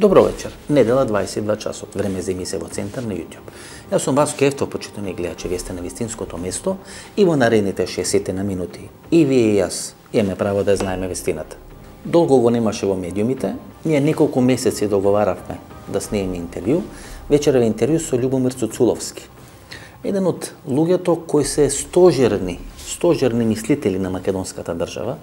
Добро вечер. Недела 22 часот. Време за емисија во Центар на YouTube. Јас сум Васко Ефтов, почитувани гледачи, вие сте на вистинското место и во наредните 60 на минути и вие и јас имаме право да знаеме вистината. Долго го немаше во медиумите, ние неколку месеци договаравме да снимеме интервју, вечерва интервју со Љубомир Цуцуловски. Еден од луѓето кои се стожерни мислители на македонската држава.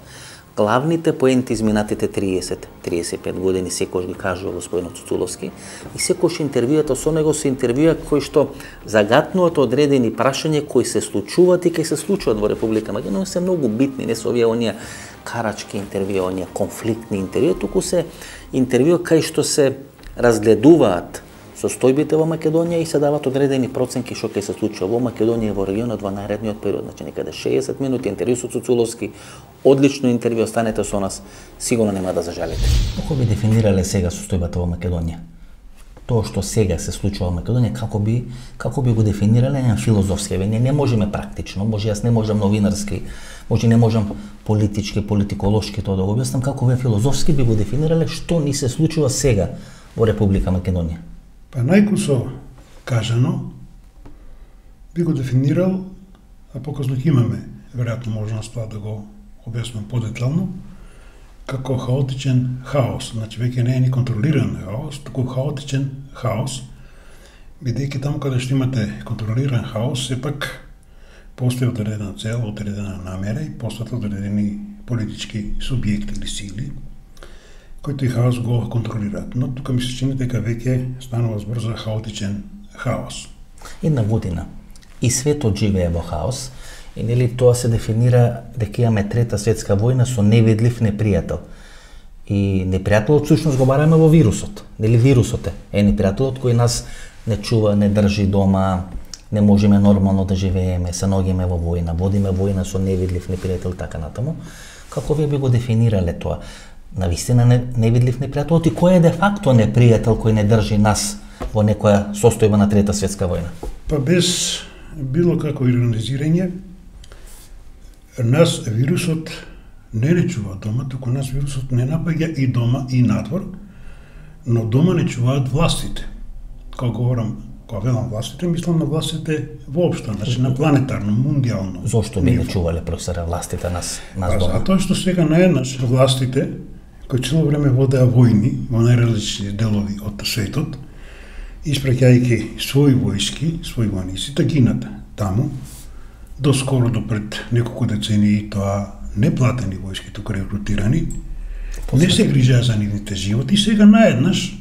Главните поенти изминатите 30-35 години секој ги кажува господинот Цуцуловски и секој интервјуата со него се интервјуа кои што загатнуваат одредени прашања кои се случуваат и кои се случуваат во Република Македонија, се многу битни, не се овие оние карачки интервјуа, оние конфликтни интервјуа, туку се интервјуа кај што се разгледуваат состојбите во Македонија и се дават одредени проценки што ќе се случува во Македонија и во регионот во наредниот период, значи некаде 60 минути интервју со Цуцуловски, одлично интервју, останете со нас, сигурно нема да зажалите. Како би дефинирале сега состојбата во Македонија? Тоа што сега се случува во Македонија, како би го дефинирале на филозофски? Ние не можеме практично, може јас не можам новинарски, може не можам политички, политиколошки тоа да го објаснам, како вие филозофски би го дефинирале што ни се случува сега во Република Македонија? Па најкусо кажано, би го дефинирал, а показно ќе имаме веројатно можност тоа да го објаснам подетално, како хаотичен хаос. Значи веќе не е ни контролиран хаос, туку хаотичен хаос, бидејќи таму каде што имате контролиран хаос, сепак постои одредена цел, одредена намера и постојат одредени политички субјекти или сили, кои тој хаос го контролираат. Но тука ми се чини дека веќе станува збор за хаотичен хаос. Една година и светот живее во хаос, и нели тоа се дефинира дека имаме трета светска војна со невидлив непријател. И непријателот всушност го бараме во вирусот. Нели вирусот е непријателот кој нас не чува, не држи дома, не можеме нормално да живееме, се наоѓаме во војна, водиме војна со невидлив непријател така натаму. Како вие би го дефинирале тоа? Навистина невидлив непријателот и кој е де факто непријател кој не држи нас во некоја состојба на трета светска војна? Па без било како иронизирање, нас вирусот не чува дома, туку нас вирусот не напаѓа и дома и надвор, но дома не чуваат властите. Кога велам властите, мислам на властите воопшто, значи на планетарно, мундијално. Зошто би не чувале, професоре, властите нас дома? Затоа што сега наеднаш властите, кои цело време водеа војни во најразлични делови од светот, испраќајќи своји војски, своји војници, да гинат таму, доскоро до пред неколку децении тоа неплатени војски, туку рекрутирани, не се грижаа за нивните животи и сега наеднаш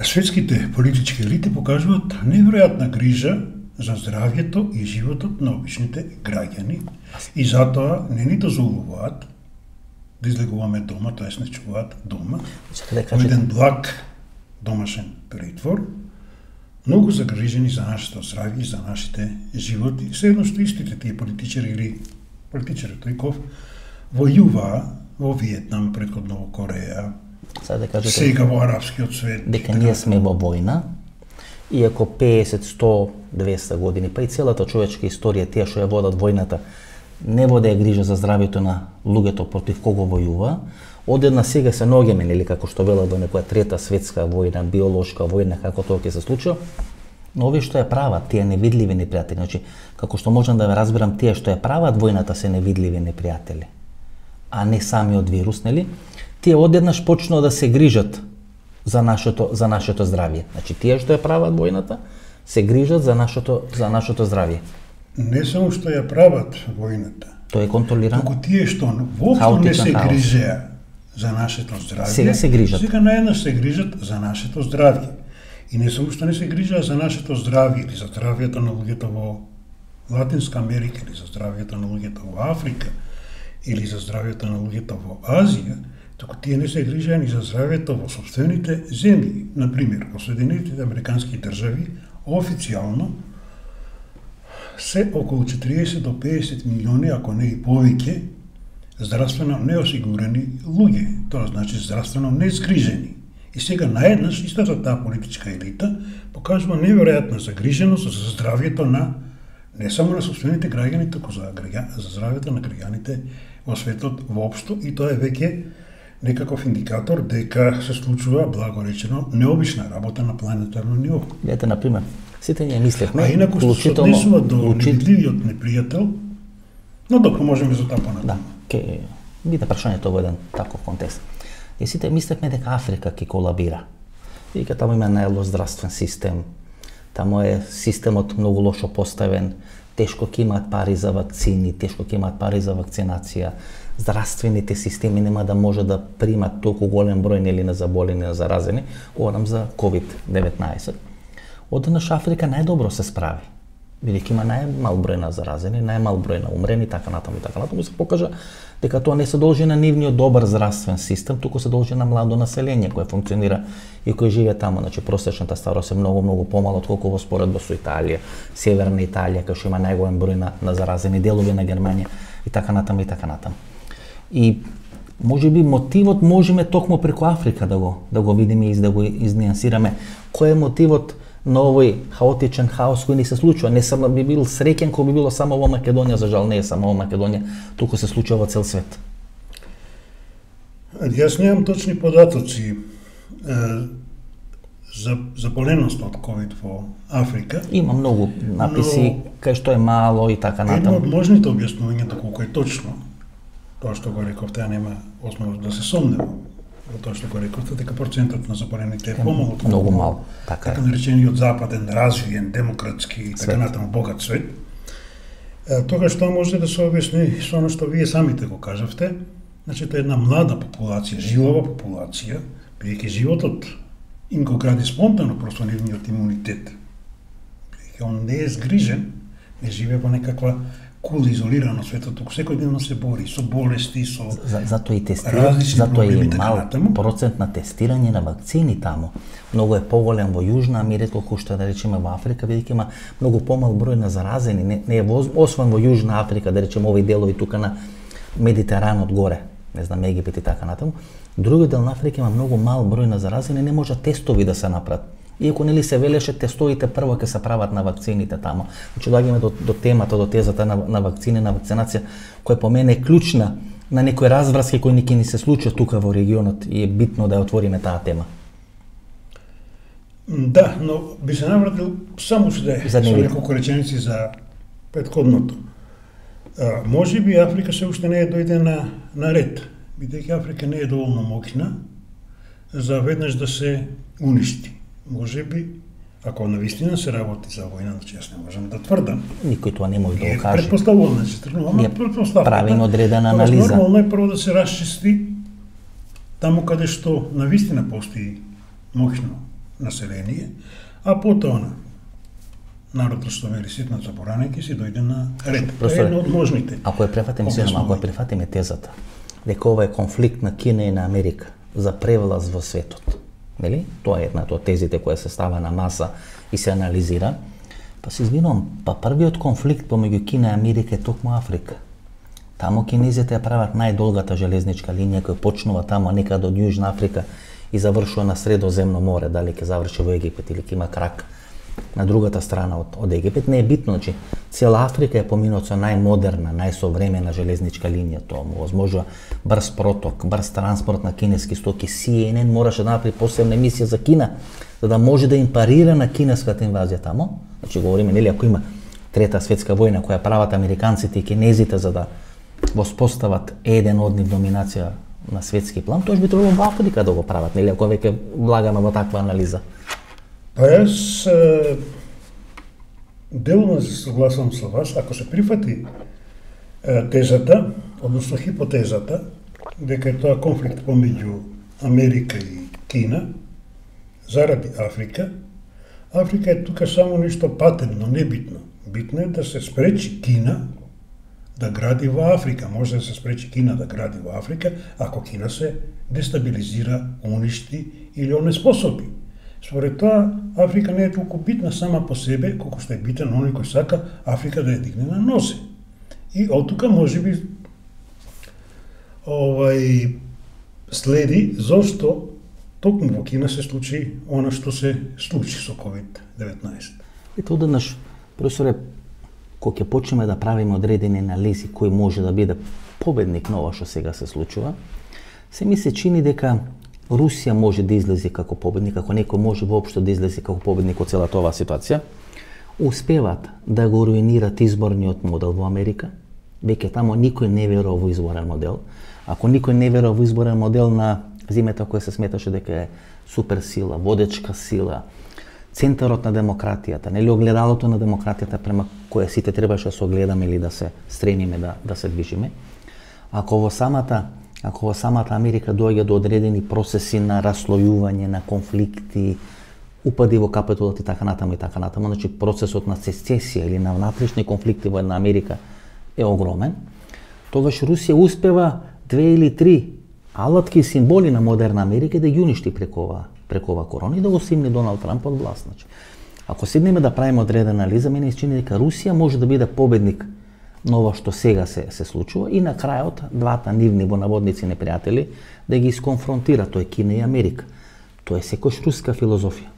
светските политички елити покажуваат неверојатна грижа за здравјето и животот на обичните граѓани и затоа не ни дозволуваат да излегуваме дома, тоест не чуваат дома. Еден благ домашен притвор, многу загрижени за нашето здравје и за нашите животи. Седно што истите тие политичари или политичари тојков војуваа во Виетнам, претходно во Кореја, сега во арапскиот свет. Дека ние сме во војна, иако 50, 100, 200 години, па и целата човечка историја, тие што ја водат војната, не воде грижа за здравјето на луѓето против кого војува, одедна сега се наоѓаме, нели, како што велат во некоја трета светска војна, биолошка војна, како тоа ќе се случи, но овие што ја прават, тие невидливи непријатели, значи, како што можам да ве разберам, тие што ја прават војната се невидливи непријатели, а не самиот вирус, нели, тие одеднаш почнува да се грижат за нашето здравје. Значи, тие што ја прават војната, се грижат за нашето здравје. Не само што ја прават војната, тоа е контролирано. Туку тие што воопшто не се грижеа за нашето здравје, сега се грижат. Сега наеднаш се грижат за нашето здравје. И не само што не се грижеа за нашето здравје или за здравјето на луѓето во Латинска Америка или за здравјето на луѓето во Африка или за здравјето на луѓето во Азија, туку тие не се грижеа ни за здравјето во сопствените земји. Например, во Соединетите Американски држави официјално се околу 40 до 50 милиони, ако не и повеќе, здравствено неосигурени луѓе, тоа значи здравствено незгрижени. И сега наеднаш истата таа политичка елита покажува неверојатна загриженост за здравјето на не само на собствените граѓани, туку за здравјето на граѓаните во светот воопшто, и тоа е веќе некаков индикатор дека се случува, благо речено, необична работа на планетарно ниво. Ете, например, сите ние мислевме, А инаку што се однесува до невидливиот непријател, но добро, можеме за таа понатаму. Да, ке биде прашањето во еден таков контекст. И сите мислевме дека Африка ќе колабира. И дека таму има најлош здравствен систем, таму е системот многу лошо поставен, тешко ќе имаат пари за вакцини, тешко ќе имаат пари за вакцинација, здравствените системи нема да може да примат толку голем број нели на заболени, на заразени, говорам за COVID-19. Одеднаш Африка најдобро се справи, бидејќи има најмал број на заразени, најмал број на умрени, така натаму и така натаму, се покажа дека тоа не се должи на нивниот добар здравствен систем, туку се должи на младо население кое функционира и кој живее таму. Значи просечната старост е многу помала отколку во споредба со Италија, Северна Италија, кај што има најголем број на заразени, делови на Германија и така натаму и така натаму. И можеби мотивот можеме токму преку Африка да го видиме и да го изниансираме. Кој е мотивот на овој хаотичен хаос кој ни се случува? Не само би бил среќен кога би било само во Македонија, за жал не е само во Македонија, туку се случува во цел свет. Јас немам точни податоци за заболеност од ковид во Африка. Има многу написи кај што е мало и така натаму. натаму. Едно од можните објаснувања доколку е точно, тоа што го рековте, нема основа да се сомнева во тоа што го рековте, дека процентот на заболените е помал од многу мал, така наречениот западен, развиен, демократски и така натаму богат свет. Тогаш тоа може да се објасни со оно што вие самите го кажавте, значи тоа е една млада популација, жилава популација, бидејќи животот им го гради спонтано просто нивниот имунитет. Бидејќи он не е згрижен, не живее во некаква кула изолирано светот, туку секојдневно се бори со болести, со затоа и тестирање, затоа и мал процент на тестирање на вакцини таму. Многу е поголем во Јужна Америка, колку што да речеме во Африка, бидејќи има многу помал број на заразени, не е освен во Јужна Африка, да речеме овој делови тука на Медитеранот горе, не знам, Египет и така натаму. Другиот дел на Африка има многу мал број на заразени, не може тестови да се направат. Иако нели се велеше тестовите прво ќе се прават на вакцините таму. Значи доаѓаме до темата, до тезата на вакцини, на вакцинација, која по мене е клучна на некои разврски кои ни се случат тука во регионот и е битно да ја отвориме таа тема. Да, но би се навратил само со неколку реченици за претходното. Може би Африка се уште не е дојде на ред, бидејќи Африка не е доволно моќна за веднаш да се уништи. Може би, ако навистина се работи за војна, значи јас не можам да тврдам. Никој тоа не може да го каже. Предпоставувам, значи тргнуваме предпоставка. Правиме одредена анализа. Нормално е прво да се расчисти таму каде што навистина постои моќно население, а потоа народот што вели ситна заборана ќе си дојде на ред. Тоа е едно од можните. Ако ја прифатиме тезата дека ова е конфликт на Кина и на Америка за превлаз во светот. Нели? Тоа е едната од тезите која се става на маса и се анализира. Па се извинувам, првиот конфликт помеѓу Кина и Америка е токму Африка. Таму кинезите ја прават најдолгата железничка линија која почнува таму некаде од Јужна Африка и завршува на Средоземно море, дали ќе заврши во Египет или ќе има крак на другата страна од Египет, не е битно, значи цела Африка е поминат со најмодерна, најсовремена железничка линија, тоа му возможува брз проток, брз транспорт на кинески стоки. CNN мораше да направи посебна емисија за Кина, за да може да им парира на кинеската инвазија таму. Значи говориме, нели, ако има Трета светска војна која прават американците и кинезите за да воспостават еден од нив доминација на светски план, тоа би требало во Африка да го прават, нели, ако веќе влагаме во таква анализа. Па јас делно се согласам со вас, ако се прифати тезата, односно хипотезата, дека е тоа конфликт помеѓу Америка и Кина, заради Африка, Африка е тука само нешто патемно, небитно. Битно е да се спречи Кина да гради во Африка. Може да се спречи Кина да гради во Африка, ако Кина се дестабилизира, уништи или онеспособи. Според тоа, Африка не е толку битна сама по себе, колку што е битен оној кој сака Африка да ја дигне на нозе. И од тука можеби следи зошто токму во Кина се случи она што се случи со COVID-19. Ето одеднаш, професоре, кога ќе почнеме да правиме одредени анализи кој може да биде победник на ова што сега се случува, Се ми се чини дека Русија може да излезе како победник, ако некој може воопшто да излезе како победник од целата оваа ситуација. Успеват да го руинират изборниот модел во Америка. Веќе тамо никој не верува во изборен модел. Ако никој не верува во изборен модел на земјата која се сметаше дека е суперсила, водечка сила, центарот на демократијата, нели огледалото на демократијата према која сите требаше да се огледаме или да се стремиме да се движиме. Ако во самата Америка доаѓа до одредени процеси на раслојување, на конфликти, упади во капитулот и така натаму, значи процесот на сецесија или на внатрешни конфликти во една Америка е огромен, тогаш Русија успева 2 или 3 алатки и символи на модерна Америка да ги уништи преку ова корона и да го симне Доналд Трамп од власт. Значи, ако седнеме да правиме одредена анализа, мене се чини дека Русија може да биде победник на ова што сега се случува и на крајот двата нивни во наводници непријатели да ги исконфронтира, тоа е Кина и Америка. Тоа е секој руска филозофија.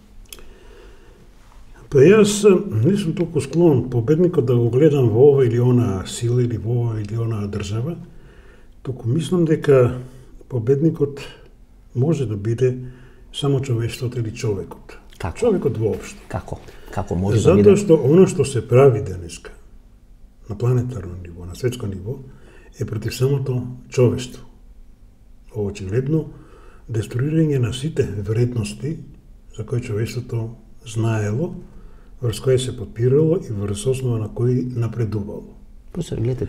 Па јас не сум толку склон победникот да го гледам во ова или она сила или во ова или она држава, туку мислам дека победникот може да биде само човештвото или човекот. Како? Човекот воопшто. Како може да биде? Затоа што оно што се прави денеска на планетарно ниво, на светско ниво, е против самото човештво. Очигледно деструирање на сите вредности за кои човештвото знаело, врз кои се подпирало и врз основа на кои напредувало. Професор, гледате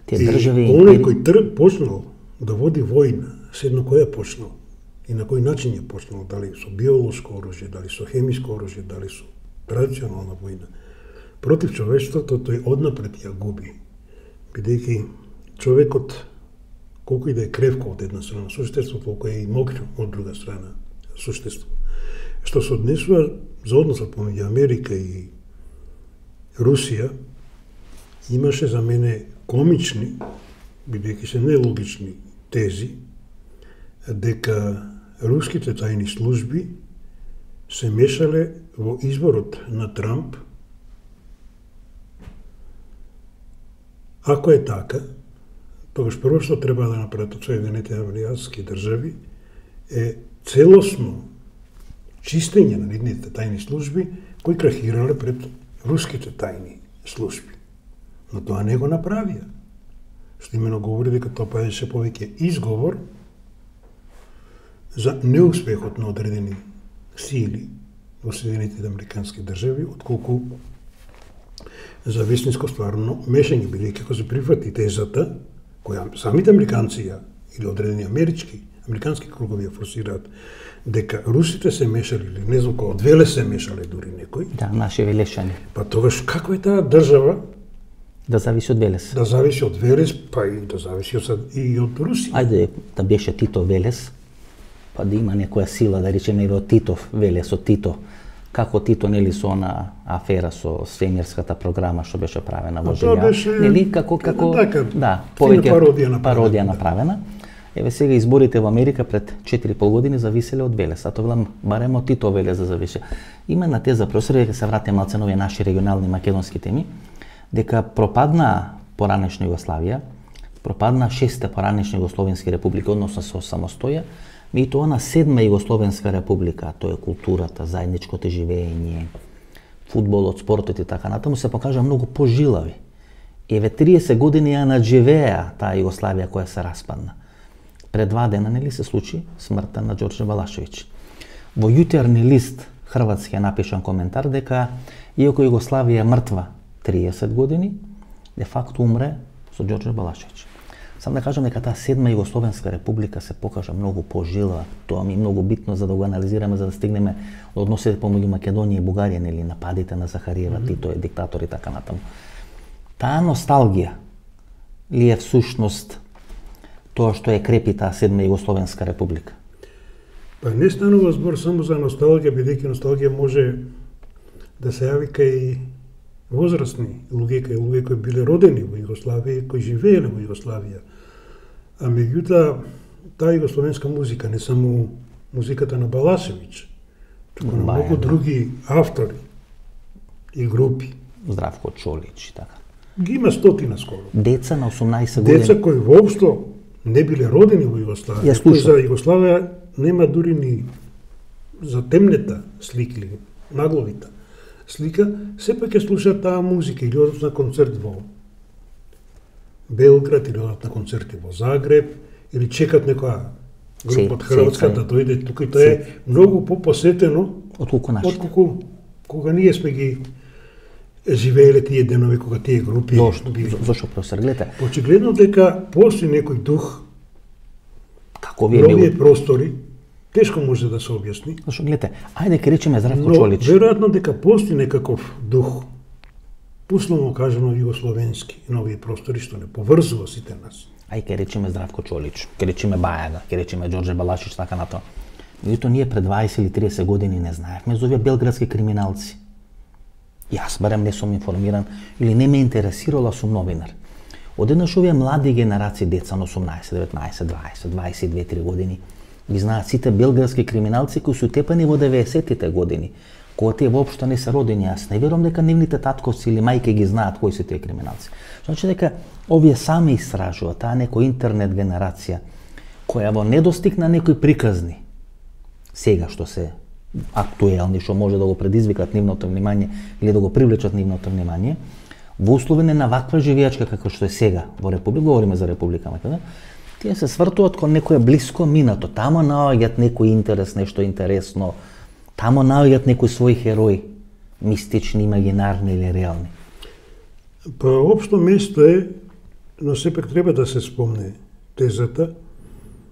тие држави и оној кој почнал да води војна, седно кој е почнал и на кој начин е почнал, дали со биолошко оружје, дали со хемиско оружје, дали со традиционална војна, против човештвото тој однапред ја губи, бидејќи човекот, колку и да е кревко од една страна суштество, толку е и мокро од друга страна суштество. Што се однесува за односот помеѓу Америка и Русија, имаше за мене комични, бидејќи се нелогични тези, дека руските тајни служби се мешале во изборот на Трамп. Ако е така, тогаш прво што треба да направат од Соединетите американски држави е целосно чистење на нивните тајни служби кои крахирале пред руските тајни служби. Но тоа не го направија. Што имено говори дека тоа беше повеќе изговор за неуспехот на одредени сили во Соединетите американски држави, отколку за вистинско стварно мешање, бидејќи ако се прифати тезата, која самите американци или одредени американски кругови ја форсираат, дека русите се мешали, или не знам кој, од Велес се мешале дури некој. Да, наши велешани. Па тогаш како е таа држава да зависи од Велес? Да зависи од Велес, па и да зависи и од Русија. Ајде да беше Тито Велес, па да има некоја сила, да речеме од Титов Велес, од Тито. Како Тито, нели, со она афера со свемирската програма што беше правена во Желја. Нели, како да, повеќе пародија направена. Еве сега изборите во Америка пред 4,5 години зависеле од Велес, а тоа барем од Тито Велес да завише. Има на теза, професор, дека се вратиме малце на овие наши регионални македонски теми, дека пропадна поранешна Југославија, пропадна 6-те поранешни југословенски републики, односно со самостоја, и тоа на 7-ма Југословенска република, тоа е културата, заедничкото живење, фудболот, спортот и така натаму, се покажа многу пожилави. Еве 30 години ја надживеа таа Југославија која се распадна. Пред 2 дена, нели, се случи смртта на Ѓорđe Балашевиќ. Во јутерни лист хрватски е напишан коментар дека иако Југославија мртва 30 години, де факто умре со Ѓорđe Балашевиќ. Сам да кажам дека таа 7-ма Југословенска република се покажа многу пожила, тоа ми е многу битно за да го анализираме, за да стигнеме до односите помеѓу Македонија и Бугарија, нели, нападите на Захариева, Тито е диктатор и така натаму. Таа носталгија ли е всушност тоа што е крепи таа 7-ма Југословенска република? Па не станува збор само за носталгија, бидејќи носталгија може да се јави кај возрастни луѓе кои биле родени во Југославија, кои живееле во Југославија. А меѓутоа, таа југословенска музика, не само музиката на Балашевиќ, туку на многу други автори и групи. Здравко Чолич и така. Ги има стотина скоро. Деца на 18 години. Деца кои воопшто не биле родени во Југославија. Кој за Југославија нема дури ни за темнета слики или нагловита слика, сепак ќе слушаат таа музика или одат на концерт во Белград или одат на концерти во Загреб или чекат некоја група од Хрватска да дојде тука и тоа е многу попосетено отколку кога ние сме ги живееле тие денови кога тие групи били. Зошто професор, гледате? Очигледно дека постои некој дух како ви е било простори, тешко може да се објасни. Зошто гледате, ајде ке речеме Здравко Чолич. Но веројатно дека постои некаков дух, условно кажано југословенски, на овие простори што не поврзува сите нас. Ај ке речеме Здравко Чолич, ке речеме Бајага, ке речеме Ѓорđe Балашич, така натаму. Меѓутоа ние пред 20 или 30 години не знаевме за овие белградски криминалци. Јас барем не сум информиран или не ме интересирала, сум новинар. Одеднаш овие млади генерации деца на 18, 19, 20, 22-3 години ги знаат сите белградски криминалци кои се тепани во 90-тите години, кога тие воопшто не се родени. Јас не верувам дека нивните татковци или мајки ги знаат кои се тие криминалци. Значи дека овие сами истражуваат, таа некоја интернет генерација која во недостиг на некои приказни сега што се актуелни, што може да го предизвикат нивното внимание или да го привлечат нивното внимание, во услови на ваква живеачка како што е сега во Република, говориме за Република Македонија, тие се свртуваат кон некое блиско минато, тамо наоѓаат некој интерес, нешто интересно, тамо наоѓаат некој свој херој, мистични, имагинарни или реални. Па општо место е, но сепак треба да се спомне тезата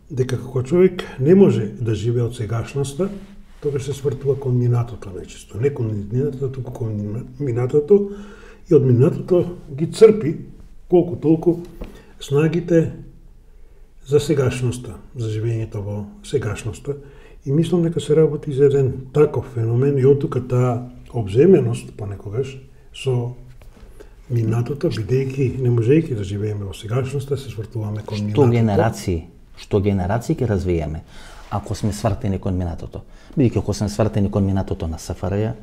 дека како човек не може да живее од сегашноста, тогаш се свртува кон минатото најчесто, не кон минатото, туку кон минатото, и од минатото ги црпи колку толку снагите за сегашноста, за живењето во сегашноста. И мислам дека се работи за еден таков феномен и оттука таа обземеност понекогаш со минатото, бидејќи не можејќи да живееме во сегашноста, се свртуваме кон минатото. Што генерации ќе развиеме ако сме свртени кон минатото? Бидејќи ако сме свртени кон минатото на СФРЈ,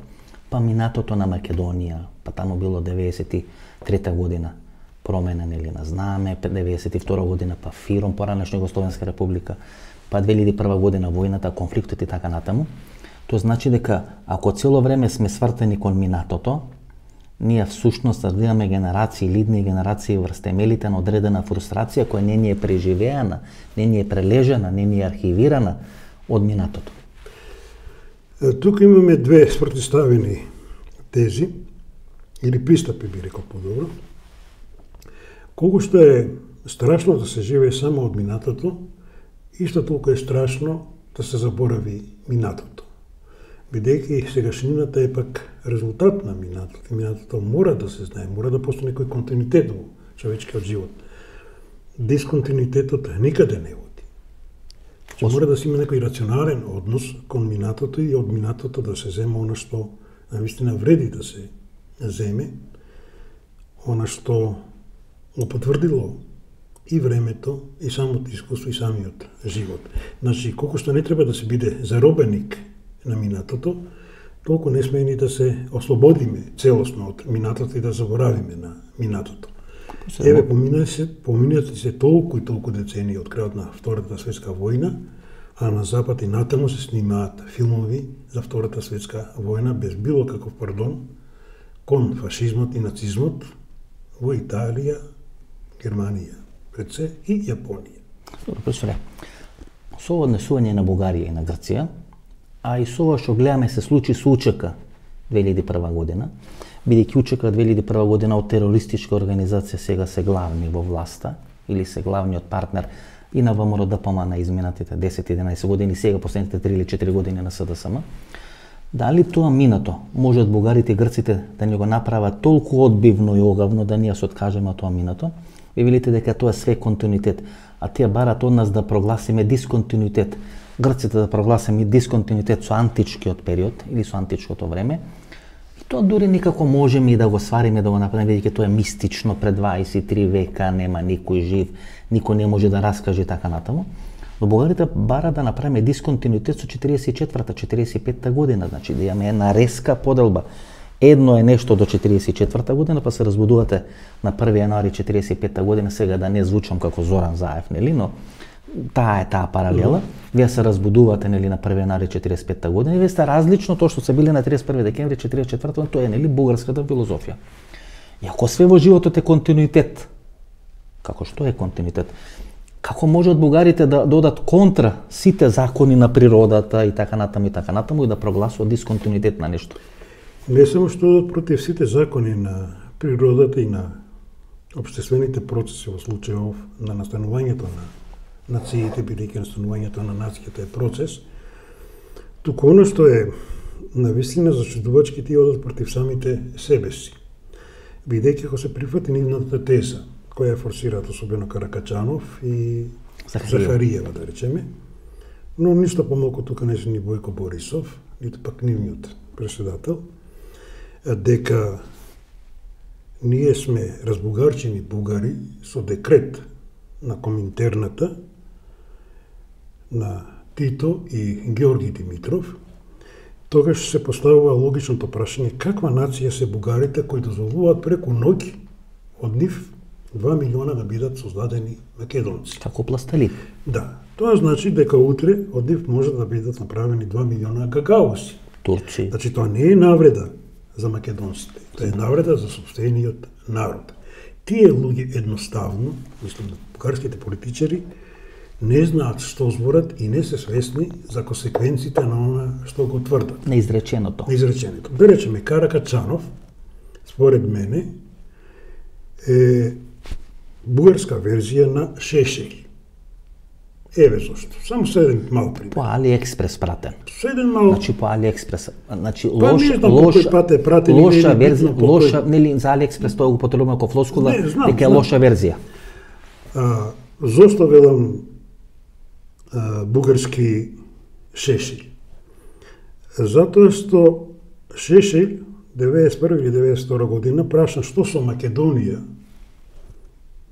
па минатото на Македонија, па таму било 93 година променен или на знаме, 92 година па ФИРОМ, поранешна Југословенска република, па 2001 година војната, конфликтот и така натаму. Тоа значи дека ако цело време сме свртени кон минатото, ние всушност развиваме генерации, лидни генерации врз темелите на одредена фрустрација која не ни е преживеана, не ни е прележена, не ни е архивирана од минатото. Тука имаме две спротивставени тези, или пристапи би рекол подобро. Колку што е страшно да се живее само од минатото, исто толку е страшно да се заборави минатото. Бидејќи сегашнината е пак резултат на минатото. Минатото мора да се знае, мора да постои некој континуитет во човечкиот живот. Дисконтинуитетот никаде не води. Мора да се има некој рационален однос кон минатото и од минатото да се земе она што навистина вреди да се земе, она што го потврдило и времето, и самото искуство, и самиот живот. Значи, колку што не треба да се биде заробеник на минатото, толку не сме ни да се ослободиме целосно од минатото и да заборавиме на минатото. Еве, поминати се толку и толку децении од крајот на Втората светска војна, а на Запад и натаму се снимаат филмови за Втората светска војна без било каков пардон кон фашизмот и нацизмот во Италија, Германија, пред се и Јапонија. Добро, професоре, со ова однесување на Бугарија и на Грција, а и со ова што гледаме се случи со УЧК 2001 година, бидејќи УЧК 2001 година од терористичка организација сега се главни во власта или се главниот партнер и на ВМРО ДПМ на изминатите 10-11 години, сега последните 3 или 4 години на СДСМ. Дали тоа минато може од бугарите и грците да ни го направат толку одбивно и огавно да ние се откажеме од тоа минато? Ви велите дека тоа е све континуитет, а тие барат од нас да прогласиме дисконтинуитет. Грците да прогласиме дисконтинуитет со античкиот период или со античкото време. И тоа дури никако можеме и да го свариме, да го направиме, бидејќи тоа е мистично, пред 23 века нема никој жив, никој не може да раскаже така натаму. Но бугарите бара да направиме дисконтинуитет со 44-та, 45-та година, значи да имаме една резка поделба Едно е нешто до 44 година, па се разбудувате на 1 јануари 45 година, сега да не звучам како Зоран Заев, нели, но таа паралела. Вие се разбудувате, нели, на 1 јануари 45 година и вие сте различно тоа што се били на 31 декември 44 година, тоа е, нели, бугарската филозофија. И ако све во животот е континуитет, како што е континуитет, како можат бугарите да додат контра сите закони на природата и така натаму и да прогласуваат дисконтинуитет на нешто? Не само што додат против сите закони на природата и на општествените процеси во случајов на настанувањето на нациите, бидејќи настанувањето на нацијата е процес, туку оно што е навистина зачудувачки тие одат против самите себе си. Бидејќи ако се прифати нивната теза, која е форсираат особено Каракачанов и Захариева, да речеме, но ништо помалку тука не се ни Бојко Борисов, ниту пак нивниот преседател, дека ние сме разбугарчени бугари со декрет на Коминтерната на Тито и Георги Димитров, тогаш се поставува логичното прашање каква нација се бугарите кои дозволуваат преку ноќ од нив 2 милиона да бидат создадени македонци. Како пластелин. Да. Тоа значи дека утре од нив може да бидат направени 2 милиона гагаоси. Турци. Значи тоа не е навреда за македонците, тоа е навреда за сопствениот народ. Тие луѓе едноставно, мислам да бугарските политичари, не знаат што зборат и не се свесни за консеквенците на она што го тврдат. На изреченото. Да речеме, Каракачанов, според мене, е бугарска верзија на Шешел. Еве зошто. Само со еден мал пример. По Алиекспрес пратен. Со еден мал. Значи по Алиекспрес, значи лоша верзија, лоша, нели за Алиекспрес тоа го потребуваме како флоскула, дека е лоша верзија. Зошто велам бугарски Шешел? Затоа што Шешел 91 или 92 година прашан што со Македонија.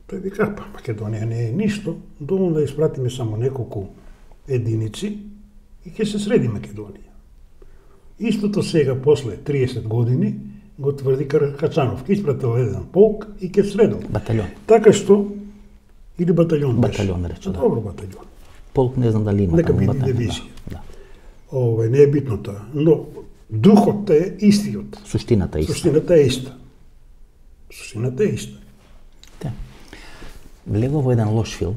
Тој вика, па Македонија не е ништо, доволно да испратиме само неколку единици и ќе се среди Македонија. Истото сега, после 30 години, го тврди Каракачанов. Ке испратил еден полк и ке средил. Батальон. Така што, или батальон беше. Батальон рече, да. Добро батальон. Полк не знам дали има. Нека биде дивизија. Да. Не е битно тоа, но духот е истиот. Суштината е иста. Суштината е иста. Суштината е иста. Влегува во еден лош филм,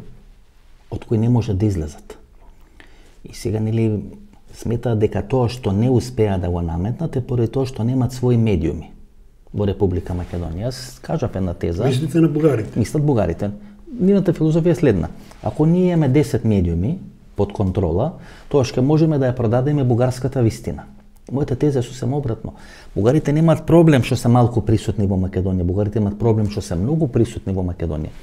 од кој не може да излезат. И сега, нели, сметаат дека тоа што не успеа да го наметнат е поради тоа што немаат своји медиуми во Република Македонија. Јас кажав една теза. Мислите на бугарите? Мислат бугарите. Нивната филозофија е следна. Ако ние имаме 10 медиуми под контрола, тоа ќе можеме да ја продадеме бугарската вистина. Мојата теза е сосем обратно. Бугарите немаат проблем што се малку присутни во Македонија. Бугарите имаат проблем што се многу присутни во Македонија.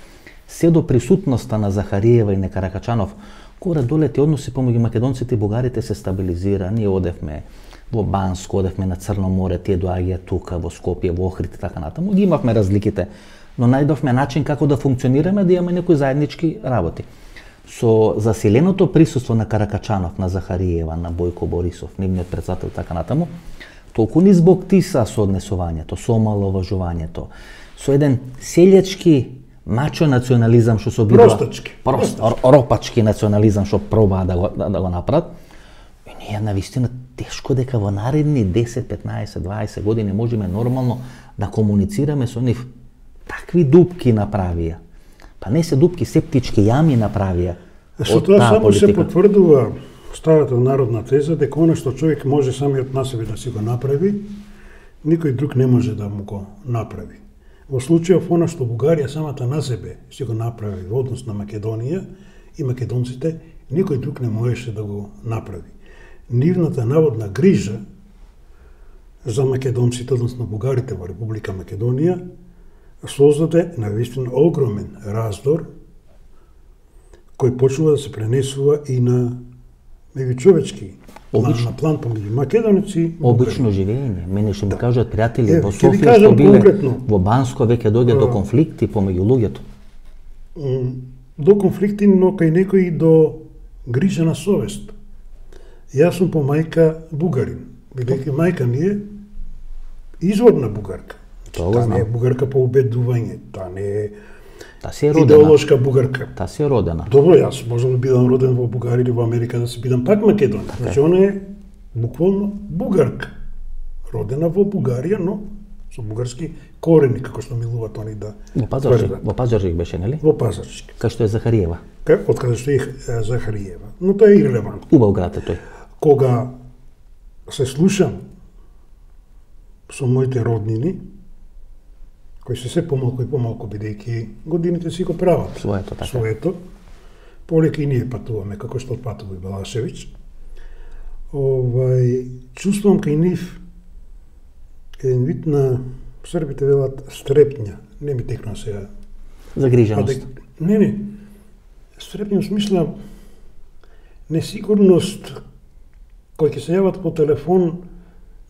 Се до присутноста на Захариева и на Каракачанов, горе доле ти односи помеѓу македонците и бугарите се стабилизира. Ние одевме во Банско, одевме на Црно море, тие доаѓаат тука во Скопје, во Охрид и така натаму. Ги имавме разликите, но најдовме начин како да функционираме, да имаме некои заеднички работи. Со засиленото присуство на Каракачанов, на Захариева, на Бојко Борисов, нивниот председател и така натаму, толку низ бог тиса со однесувањето, со омаловажувањето, со еден селјачки мачо национализам што се обидува, ропачки национализам што пробаа да го направат. И ние навистина тешко дека во наредни 10, 15, 20 години можеме нормално да комуницираме со нив. Такви дупки направија. Па не се дупки, септички јами направија. Со тоа само се потврдува старата народна теза дека она што човек може самиот на себе да си го направи, никој друг не може да му го направи. Во случајов она што Бугарија самата на себе си го направи во однос на Македонија и македонците, никој друг не можеше да го направи. Нивната наводна грижа за македонците, односно бугарите во Република Македонија, создаде навистина огромен раздор кој почнува да се пренесува и на меѓучовечки на план помеѓу македонци и обично живење. Мене што ми кажат пријатели во Софија што биле во Банско, веќе доаѓа до конфликти помеѓу луѓето. До конфликти, но кај некои до грижа на совест. Јас сум по мајка бугарин, бидејќи мајка ми е изворна бугарка. Тоа не е бугарка по убедување, таа не е си е родена. Идеолошка бугарка. Таа си е родена. Добро, јас можам да бидам роден во Бугарија или во Америка, да се бидам пак македонец. Значи, она е буквално бугарка. Родена во Бугарија, но со бугарски корени, како што милуваат они да тврдат. Во Пазарджик беше, нели? Во Пазарджик. Кај што е Захариева. Од каде што е Захариева. Но тоа е ирелевантно. Убав град е тој. Кога се слушам со моите роднини, кои се помалку и помалку, бидејќи годините си го прават Своето, така. своето, полека и ние патуваме, како што патува и Балашевиќ, чувствувам кај нив еден вид на, србите велат, стрепња, не ми текна сега. Загриженост. Не, стрепња в смисла несигурност, кои ќе се јават по телефон,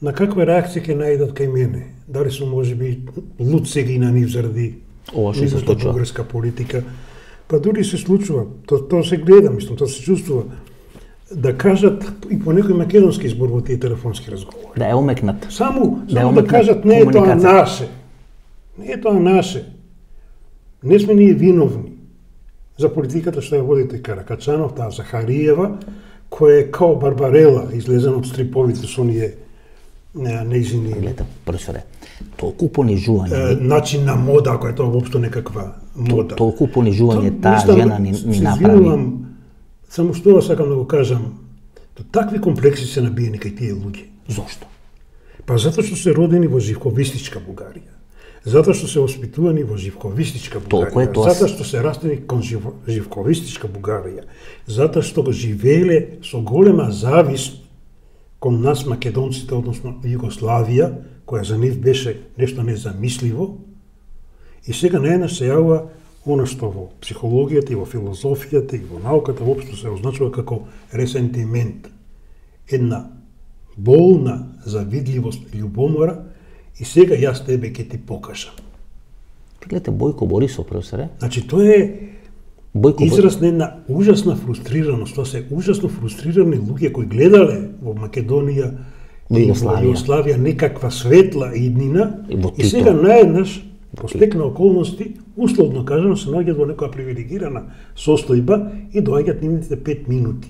на каква реакција ќе најдат кај мене. Дали сум можеби луд сега и на нив заради нивната бугарска политика. Па дури се случува, тоа се гледа, мислам, тоа се чувствува. Да кажат и по некој македонски избор во тие телефонски разговори. Да е омекнат. Само да кажат не е тоа наше. Не е тоа наше. Не сме ние виновни за политиката што ја водите Каракачанов, таа Захариева, која е као Барбарела, излезена од стриповите со оние неизини... Гледа, професоре, толку понижување... Начин на мода, ако е тоа воопшто некаква мода. Толку понижување таа жена ни направи. Само што сакам да го кажам, такви комплекси се набиени кај тие луѓе. Зошто? Па затоа што се родени во живковистичка Бугарија. Затоа што се воспитувани во живковистичка Бугарија. Затоа што се растени кон живковистичка Бугарија. Затоа што го живееле со голема завист кон нас македонците, односно Југославија, која за нив беше нешто незамисливо. И сега наеднаш се јавува она што во психологијата и во филозофијата и во науката воопшто се означува како ресентимент. Една болна завидливост, љубомора, и сега јас тебе ќе ти покажам. Гледате, Бојко Борисов, професоре? Значи, тоа е израз на една ужасна фрустрираност. Тоа се ужасно фрустрирани луѓе кои гледале во Македонија и во Југославија некаква светла иднина и сега наеднаш по стек на околности, условно кажано, се наоѓаат во некоја привилегирана состојба и доаѓаат нивните 5 минути.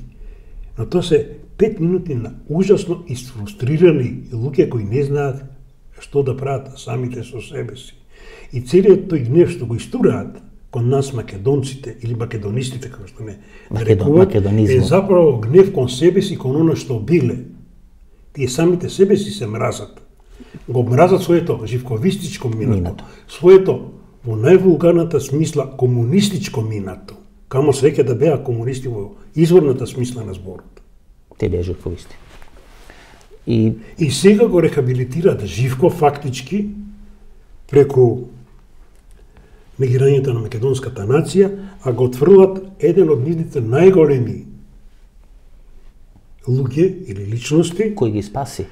Но тоа се 5 минути на ужасно изфрустрирани луѓе кои не знаат што да прават самите со себе си. И целиот тој гнев што го истураат кон нас македонците или македонистите, како што не рекуваат, е заправо гнев кон себе си, кон оно што биле. Тие самите себе си се мразат. Го мразат своето живковистичко минато, своето во највулгарната смисла комунистичко минато. Камо среќа да беа комунисти во изворната смисла на зборот. Те беа живковисти. И сега го рехабилитираат Живко фактички преку негирањето на македонската нација, а го отфрлат еден од нивните најголеми луѓе или личности кој ги спаси.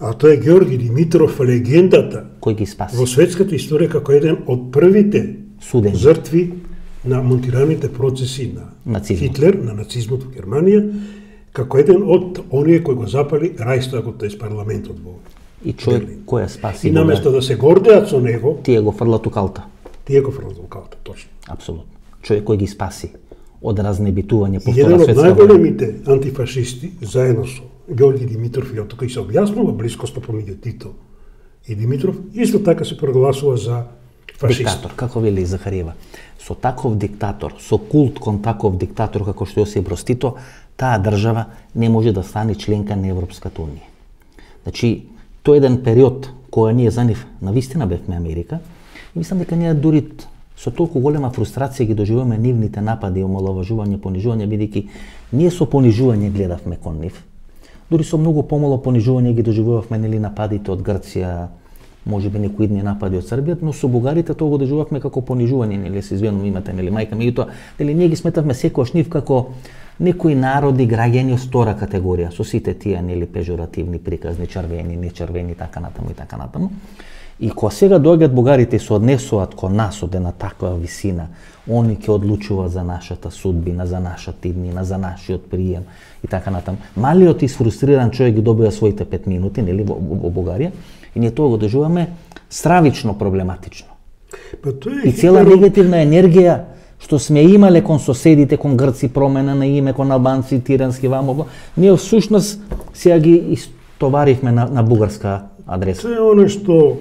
А тоа е Георги Димитров, легендата кој ги спаси во светската историја како еден од првите жртви на монтираните процеси на Хитлер, на нацизмот во Германија, како еден од оние кои го запали Рајстагот, тоест парламентот во. И човек кој ја спаси. И наместо да се гордеат со него, тие го фрлат у калта. Тие го фрлат у калта, точно. Апсолутно. Човек кој ги спаси од разнебитување по Втора светска война. Еден од најголемите антифашисти, заедно со Георги Димитров, и тука и се објаснува блискоста помеѓу Тито и Димитров, исто така се прогласува за фашист. Диктатор, како вели Захариева. Со таков диктатор, со култ кон таков диктатор како што Јосип Брз Тито, таа држава не може да стане членка на Европската унија. Значи, тој еден период која ние за нив навистина бевме Америка, и мислам дека ние дури со толку голема фрустрација ги доживуваме нивните напади, омаловажување, понижување, бидејќи ние со понижување гледавме кон нив. Дури со многу помало понижување ги доживувавме нели нападите од Грција, можеби некои идни напади од Србија, но со бугарите тоа го доживувавме како понижување, нели се извинувам имате нели мајка, меѓутоа нели ние ги сметавме секогаш нив како некои народи граѓани од втора категорија, со сите тие нели пежоративни приказни, чрвени, нечрвени, така натаму и така натаму. И кога сега доаѓаат бугарите и се однесуваат кон нас од една таква висина, они ќе одлучуваат за нашата судбина, за нашата иднина, за нашиот прием и така натаму. Малиот изфрустриран човек ги добива своите 5 минути, нели, во Бугарија, И ние тоа го доживаме стравично проблематично. Па тоа И цела негативна енергија што сме имале кон соседите, кон грци, промена на име, кон албанци, тирански, вамо, ние всушност сега ги истоваривме на бугарска адреса. Тоа е оно што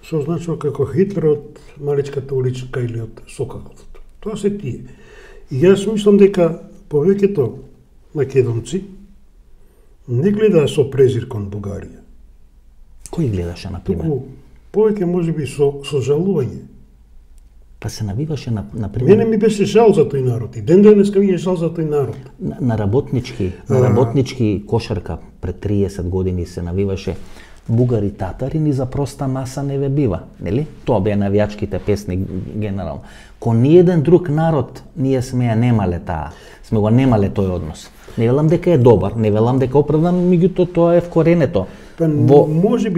се означува како Хитлер од Маличката уличка или од Соколовото. Тоа се тие. И јас мислам дека повеќето македонци не гледаа со презир кон Бугарија. Кој гледаше, например? Туку повеќе можеби со жалување. Па се навиваше, например... Мене ми беше жал за тој народ и ден денеска ми е жал за тој народ. На работнички кошарка пред 30 години се навиваше бугари татари ни за проста маса не ве бива, нели? Тоа беа навијачките песни генерално. Кон ниеден друг народ ние сме ја немале таа, сме го немале тој однос. Не велам дека е добар, не велам дека оправдан, меѓутоа тоа е вкоренето во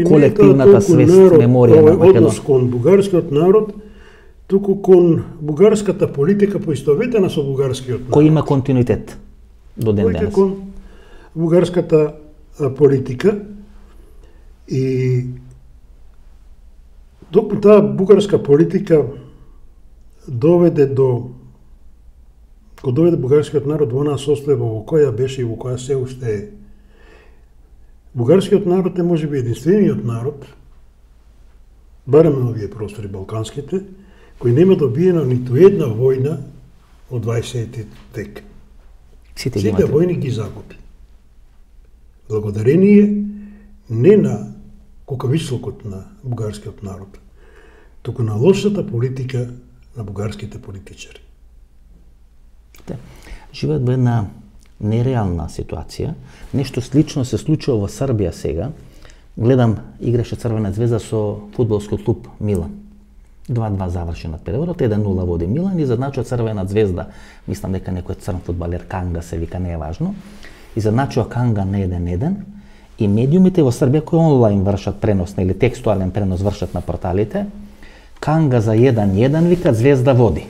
колективната свест, меморија на Македонија. Однос кон бугарскиот народ, туку кон бугарската политика поистоветена со бугарскиот народ. Кој има континуитет до ден денес. Кон бугарската политика и докато таа бугарска политика доведе бугарскиот народ во онаа состојба во која беше и во која се уште е. Бугарскиот народ е можеби единствениот народ, барем на овие простори балканските, кој нема добиена ниту една војна од 20 век. Сите војни ги загуби. Благодарение не на кукавичлукот на бугарскиот народ, туку на лошата политика на бугарските политичари. Живеат во една нереална ситуација. Нешто слично се случува во Србија сега. Гледам, играше Црвена звезда со фудбалскиот клуб Милан. 2-2 завршенат периодот, 1-0 води Милан и задначува Црвена звезда. Мислам дека некој црн фудбалер Канга се вика, не е важно. И задначува Канга на 1-1 и медиумите во Србија кои онлайн вршат пренос или текстуален пренос вршат на порталите, Канга за 1-1 вика Звезда води.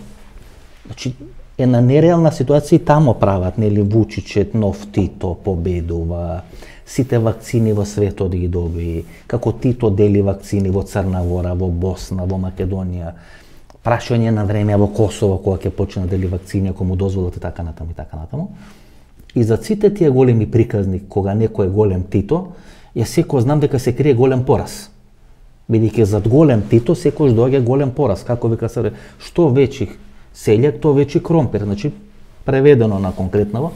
Значи една нереална ситуација и тамо прават, нели Вучичет, нов Тито победува, сите вакцини во светот ги доби, како Тито дели вакцини во Црна Гора, во Босна, во Македонија, прашање на време во Косово кога ќе почне да дели вакцини ако му дозволат и така натаму и така натаму. И за сите тие големи приказни кога некој е голем Тито, ја секој знам дека се крие голем пораз. Бидејќи зад голем Тито секој доаѓа голем пораз, како вика се, што веќе селјак, то веќе кромпир, значи преведено на конкретново.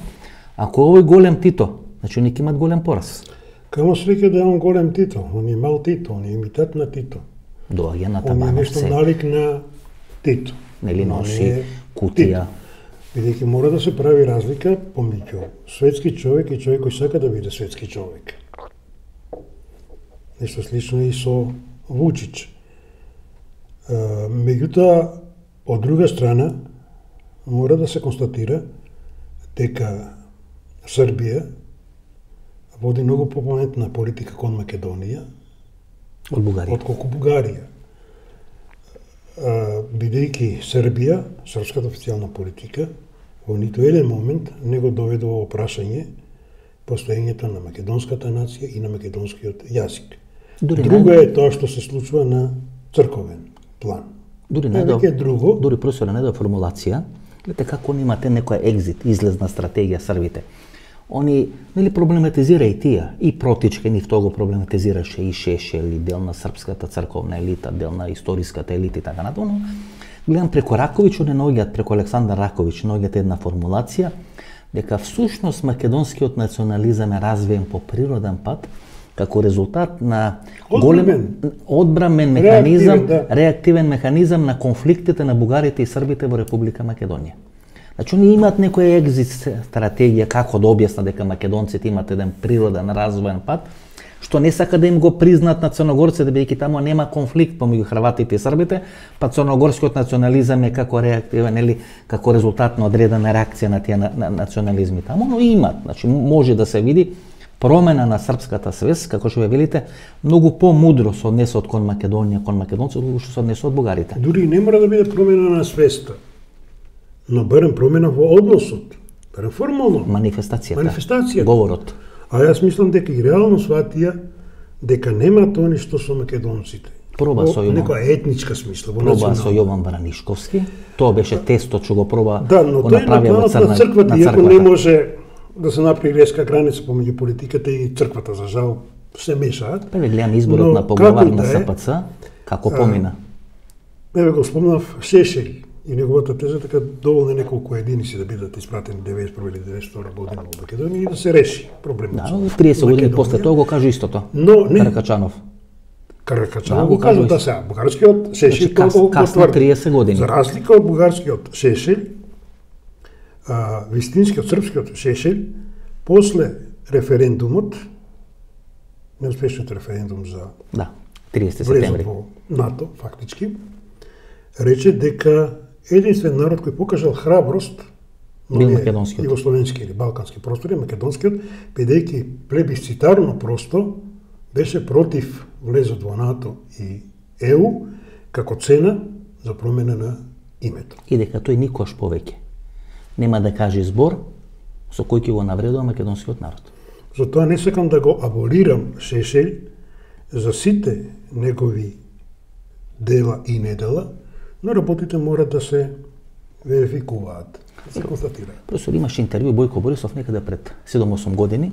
Ако овој голем Тито, значи они ќе имат голем пораз. Камо среќа да е он голем Тито, он е мал Тито, он е имитат на Тито. Доаѓа на табанов се. Он е нешто налик на Тито. Нели носи кутија. Бидејќи мора да се прави разлика помеѓу светски човек и човек кој сака да биде светски човек. Нешто слично и со Вучич. Меѓутоа, од друга страна, мора да се констатира дека Србија води многу попаметна политика кон Македонија од Бугарија. Отколку Бугарија. Бидејќи Србија, српската официјална политика, во ниту еден момент не го доведе во прашање постоењето на македонската нација и на македонскиот јазик. Друго е тоа што се случува на црковен план. Дури професор Недо формулација, гледате како они имате некоја екзит, излезна стратегија Србите. Они нели проблематизира и тие, и Протичка, нив тоа го проблематизираше и Шешел, и дел на српската црковна елита, дел на историската елита и така натаму. Гледам преку Раковиќ, они наоѓаат преку Александар Раковиќ, наоѓаат една формулација дека всушност македонскиот национализам е развиен по природен пат како резултат на голем одбрамен механизам, реактивен механизам на конфликтите на бугарите и србите во Република Македонија. Значи, они имаат некоја екзит стратегија како да објаснат дека македонците имаат еден природен развоен пат, што не сака да им го признат на црногорците, бидејќи таму нема конфликт помеѓу хрватите и србите, па црногорскиот национализам е како реактивен или како резултат на одредена реакција на тие национализми таму, но имаат, значи може да се види промена на српската свест, како што ве велите, многу помудро се однесот кон Македонија, кон македонците, отколку што се однесот бугарите. Дури не мора да биде промена на свеста, но барем промена во односот, барем формално. Манифестацијата. Говорот. А јас мислам дека и реално сватија дека нема тоа нешто со македонците. Проба со некоја етничка смисла, проба со Јован Бранишковски. Тоа беше тестот што го проба да, но го тој направи во на црквата, иако не може да се направи резка граница помеѓу политиката и црквата, за жал се мешаат. Прве гледам изборот на поглавар на СПЦ, како помина. Еве го спомнав Шешел и неговата теза, така доволно неколку единици да бидат испратени 91 или 92 година во Македонија и да се реши проблемот. Да, 30 години после тоа го кажа истото. Но не Каракачанов. Каракачанов го кажа да се бугарскиот Шешел тоа касно 30 години. За разлика од бугарскиот Шешел, вистинскиот српскиот Шешел после референдумот, неуспешниот референдум за 30 септември во НАТО фактички, рече дека единствен народ кој покажал храброст бил македонскиот, југословенски или балкански простори, македонскиот, бидејќи плебисцитарно просто беше против влезот во НАТО и ЕУ како цена за промена на името. И дека тој никош повеќе нема да каже збор со кој ќе го навредува македонскиот народ. Затоа не сакам да го аболирам Шешел за сите негови дела и недела, но работите мора да се верификуваат, да се констатираат. Професор, имаше интервју Бојко Борисов некаде пред 7-8 години,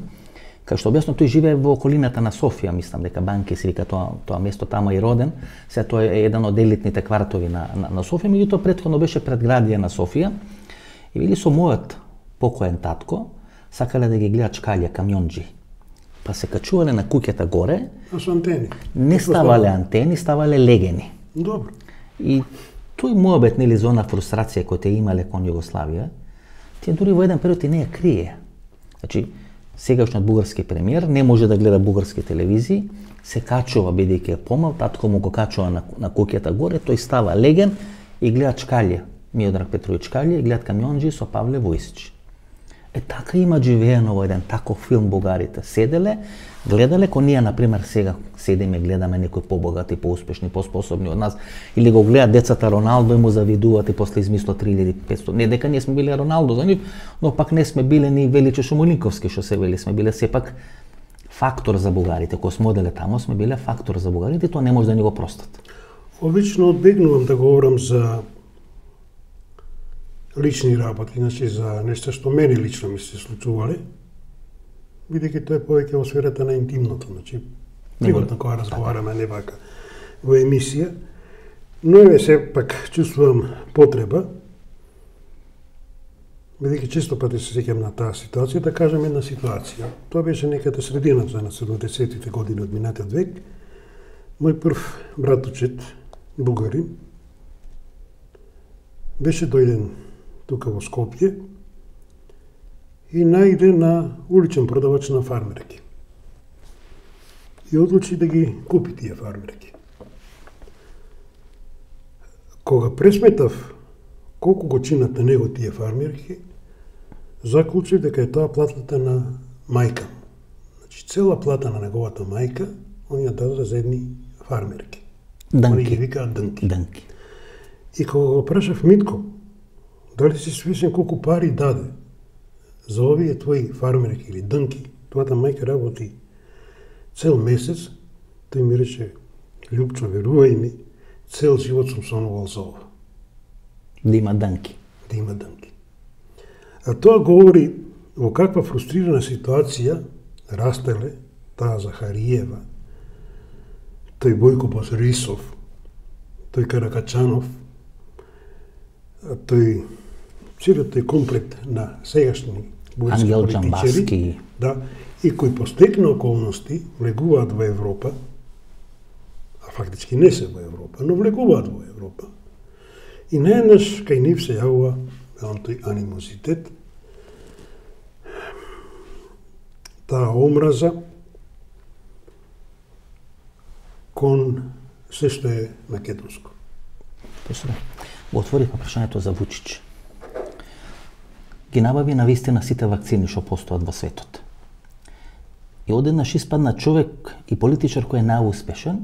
кај што објасно тој живее во околината на Софија, мислам дека Банки се вика тоа место, тamo и роден, се тоа е еден од елитните квартови на Софија, меѓутоа претходно беше предградија на Софија и вели со мојот покоен татко сакале да ги гледат чкалја, камионџи. Па се качувале на куќата горе, со антени. Не ставале антени, ставале легени. Добро. И тој муабет нели за она фрустрација која те имале кон Југославија, тие дури во еден период и не ја крие. Значи, сегашниот бугарски премиер не може да гледа бугарски телевизии, се качува бидејќи е помал, татко му го качува на куќата горе, тој става леген и гледа чкалја, Миодраг Петровиќ Чкалја и гледат камионџи со Павле Војсич. Така има живеено во еден таков филм бугарите. Седеле, гледале, ко ние, например, сега седиме, гледаме некои побогати, поуспешни, поспособни од нас, или го гледат децата Роналдо и му завидуваат и после измисло 3500. Не дека ние сме биле Роналдо за нив, но пак не сме биле ни Величе Шумолинковски, што се вели, сме биле сепак фактор за бугарите. Кога сме оделе тамо, сме биле фактор за бугарите, тоа не може да ни го простат. Обично одбегнувам да говорам за лични работи, значи за нешто што мене лично ми се случувале, бидејќи тоа е повеќе во сферата на интимното, значи приватно кога разговараме, не вака во емисија, но еве сепак чувствувам потреба, бидејќи често пати се сеќам на таа ситуација, да кажам една ситуација. Тоа беше некаде средината на 70-тите години од минатиот век. Мој прв братучет, бугарин, беше дојден тука во Скопје и најде на уличен продавач на фармерки. И одлучи да ги купи тие фармерки. Кога пресметав колку го чинат на него тие фармерки, заклучив дека е тоа платата на мајка. Значи, цела плата на неговата мајка, он ја даде за едни фармерки. Они ги викаат дънки. И кога го прашав Митко, дали си свесен колку пари даде за овие твои фармерки или дънки, твојата мајка работи цел месец, тој ми рече, Љупчо, верувај ми, цел живот сум сонувал за ова. Да има дънки. Да има дънки. А тоа говори во каква фрустрирана ситуација растеле таа Захариева, тој Бојко Бозрисов, тој Каракачанов, тој целиот тој комплект на сегашни бугарски политичари, да, и кои по стекна околности влегуваат во Европа, а фактички не се во Европа, но влегуваат во Европа. И наеднаш кај нив се јавува тој анимозитет, таа омраза кон се што е македонско. Го отворивме прашањето за Вучич. Ги набави на вистина сите вакцини што постојат во светот. И одеднаш испадна човек и политичар кој е најуспешен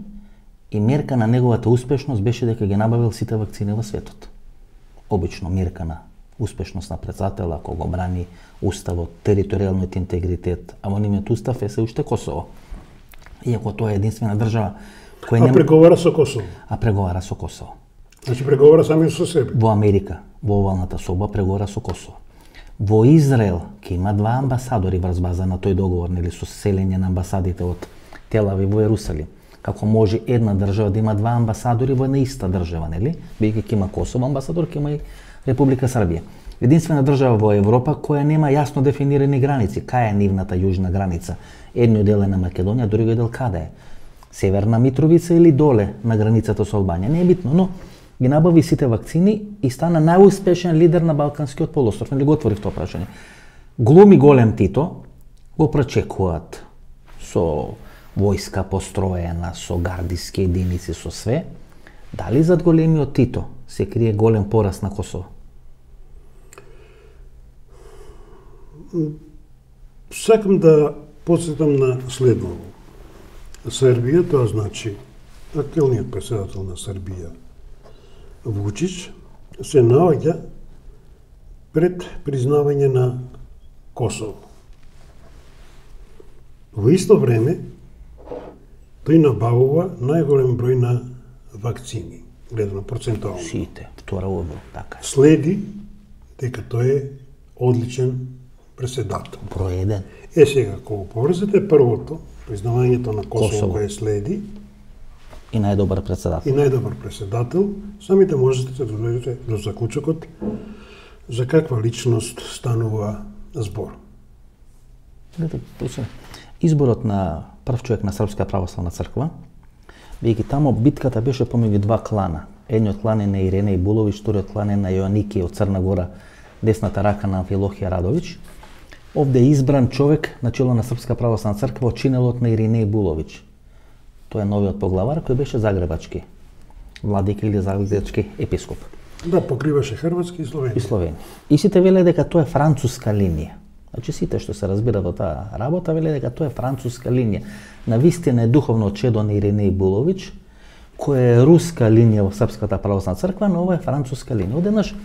и мерка на неговата успешност беше дека ги набавил сите вакцини во светот. Обично мерка на успешност на председател, ако го брани уставот, територијалниот интегритет, а во нивниот устав е се уште Косово. Иако тоа е единствена држава која нема... преговара со Косово. Преговара со Косово. Значи преговара сами со себе. Во Америка, во овалната соба, преговара со Косово. Во Израел, ке има 2 амбасадори врз база на тој договор, нели, со селење на амбасадите од Тел Авив во Ерусалим. Како може една држава да има 2 амбасадори во една иста држава, нели? Бидејќи ќе има Косово амбасадор, ќе има и Република Србија. Единствена држава во Европа која нема јасно дефинирани граници. Кај е нивната јужна граница? Едниот дел е на Македонија, другиот дел каде е? Северна Митровица или доле на границата со Албанија? Не е битно, но ги набави сите вакцини и стана најуспешен лидер на Балканскиот полуостров. Нели го отворив тоа прашање? Глуми голем Тито, го пречекуваат со војска построена, со гардиски единици, со све. Дали зад големиот Тито се крие голем пораст на Косово? Сакам да подсетам на следното. Србија, тоа значи актуелниот председател на Србија, Вучич, се наоѓа пред признавање на Косово. Во исто време, тој набавува најголем број на вакцини, гледано процентуално. Сите, втора во така. Следи дека тој е одличен преседател. Број 1. Сега, кога поврзете првото, признавањето на Косово кое следи, и најдобар преседател, самите можете да дојдете до заклучокот за каква личност станува збор. Изборот на прв човек на Српска православна црква, бидејќи тамо битката беше помеѓу 2 клана. Едниот клан е на Иренеј Буловиќ, вториот клан е на Јоаники од Црна Гора, десната рака на Амфилохија Радовиќ. Овде е избран човек на чело на Српска православна црква од чинелот на Иринеј Буловиќ. Тој е новиот поглавар кој беше загребачки владика или загребачки епископ. Да, покриваше Хрватски и Словенија. И сите веле дека тоа е француска линија. Значи сите што се разбира во таа работа веле дека тоа е француска линија. Навистина е духовно чедо на Иринеј Буловиќ, која е руска линија во Српската православна црква, но ова е француска линија. Одеднаш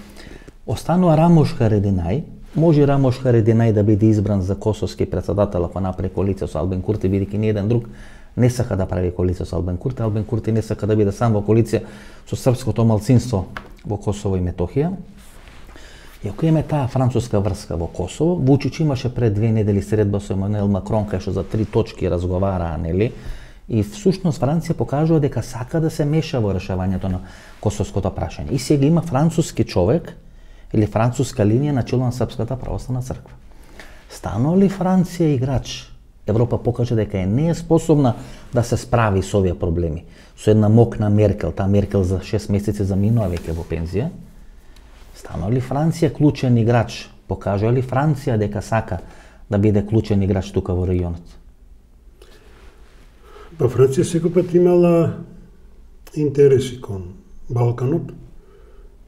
останува Рамош Харединај. Може Рамош Харединај да биде избран за косовски председател ако направи коалиција со Албин Курти, бидејќи ни еден друг не сака да прави коалиција со Албин Курти. Албин Курти не сака да биде сам во коалиција со српското малцинство во Косово и Метохија. И ако имаме таа француска врска во Косово, Вучич имаше пред 2 недели средба со Емануел Макрон, кај што за 3 точки разговараа, нели? И всушност Франција покажува дека сака да се меша во решавањето на косовското прашање. И сега има француски човек или француска линија на чело на Српската православна црква. Станува ли Франција играч? Европа покажа дека не е способна да се справи со овие проблеми. Со една мокна Меркел, таа Меркел за 6 месеци заминува веќе во пензија. Станува ли Франција клучен играч? Покажува ли Франција дека сака да биде клучен играч тука во регионот? Па Франција секој пат имала интереси кон Балканот,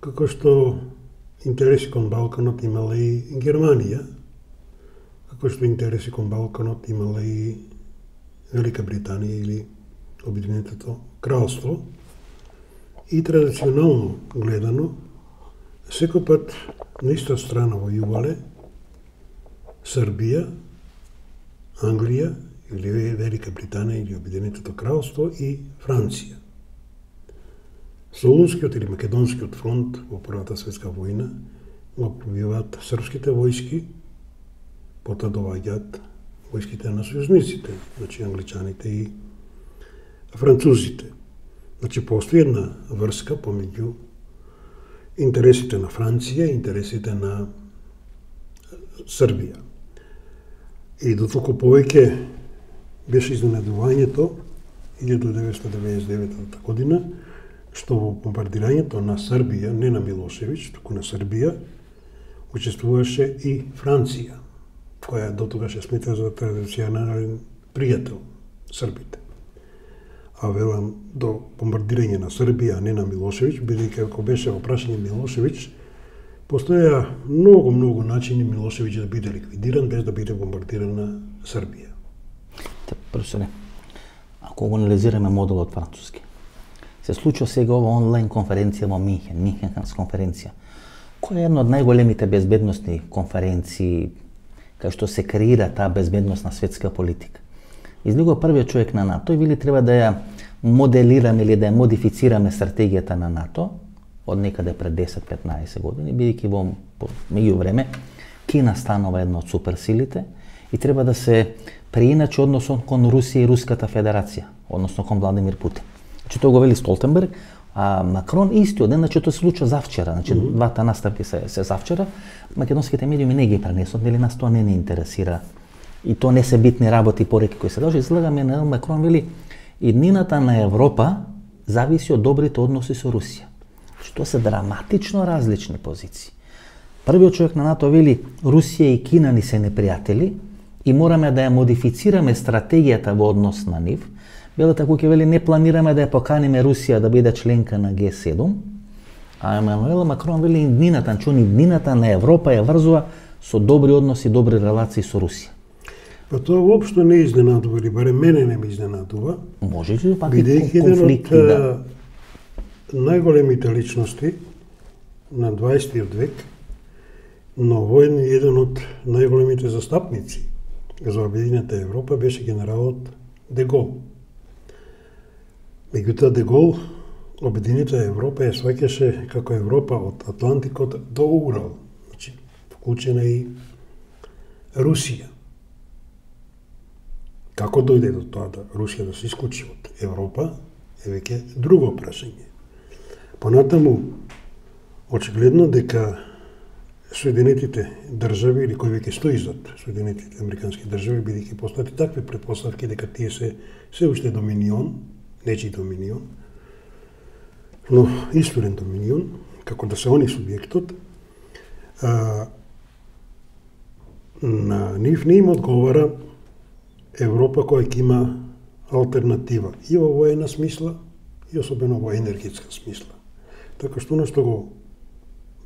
како што интереси кон Балканот имала и Германија, како што интереси кон Балканот имала и Велика Британија или Обединетото кралство. И традиционално гледано, секој пат на иста страна војувале Србија, Англија или Велика Британија или Обединетото кралство и Франција. Солунскиот или Македонскиот фронт во Првата светска војна го пробиваат српските војски, потоа доаѓаат војските на сојузниците, значи англичаните и французите. Значи постои една врска помеѓу интересите на Франција и интересите на Србија. И дотолку повеќе беше изненадувањето 1999 година, што во бомбардирањето на Србија, не на Милошевиќ, туку на Србија, учествуваше и Франција, која дотогаш се смета за традиционален пријател србите. А велам до бомбардирање на Србија, не на Милошевиќ, бидејќи ако беше во прашање Милошевиќ, постоја многу начини Милошевиќ да биде ликвидиран без да биде бомбардирана Србија. Професоре, ако го анализираме моделот француски, се случува сега ова онлайн конференција во Минхен, Минхенската конференција, која е една од најголемите безбедносни конференции кај што се креира таа безбедносна светска политика. излегува првиот човек на НАТО и вели треба да ја моделираме или да ја модифицираме стратегијата на НАТО од некаде пред 10-15 години, бидејќи во меѓувреме Кина станува една од суперсилите и треба да се преиначи односот кон Русија и Руската Федерација, односно кон Владимир Путин. Значи тоа го вели Столтенберг, а Макрон истиот ден, значи тоа се случува завчера, значи двата наставки се завчера, македонските медиуми не ги пренесот, нели нас тоа не ни интересира и тоа не се битни работи и пореки кои се должи. Излагаме на Макрон вели иднината на Европа зависи од добрите односи со Русија. Значи тоа се драматично различни позиции. Првиот човек на НАТО вели Русија и Кина ни се непријатели и мораме да ја модифицираме стратегијата во однос на нив. Белата куќа вели не планираме да ја поканиме Русија да биде членка на Г7, а Емануел Макрон вели иднината на Европа ја врзува со добри односи, добри релации со Русија. Па тоа воопшто не изненадува, или барем мене не ме изненадува. Може ли пак и конфликти да... најголемите личности на 20 век, но воен еден од најголемите застапници за Обединета Европа беше генералот Де Гол. Меѓутоа Де Гол Обединета Европа ја сваќаше како Европа од Атлантикот до Урал, значи вклучена и Русија. Како дојде до тоа да Русија да се исклучи од Европа е веќе друго прашање. Понатаму, очигледно дека Соединетите држави, или кој веќе стои зад Соединетите американски држави, бидејќи постојат такви претпоставки дека тие се уште доминион, нечи доминион, но исторен доминион, како да се они субјектот, на нив не им одговара Европа која ќе има алтернатива и во воена смисла, и особено во енергетска смисла. Така што она што го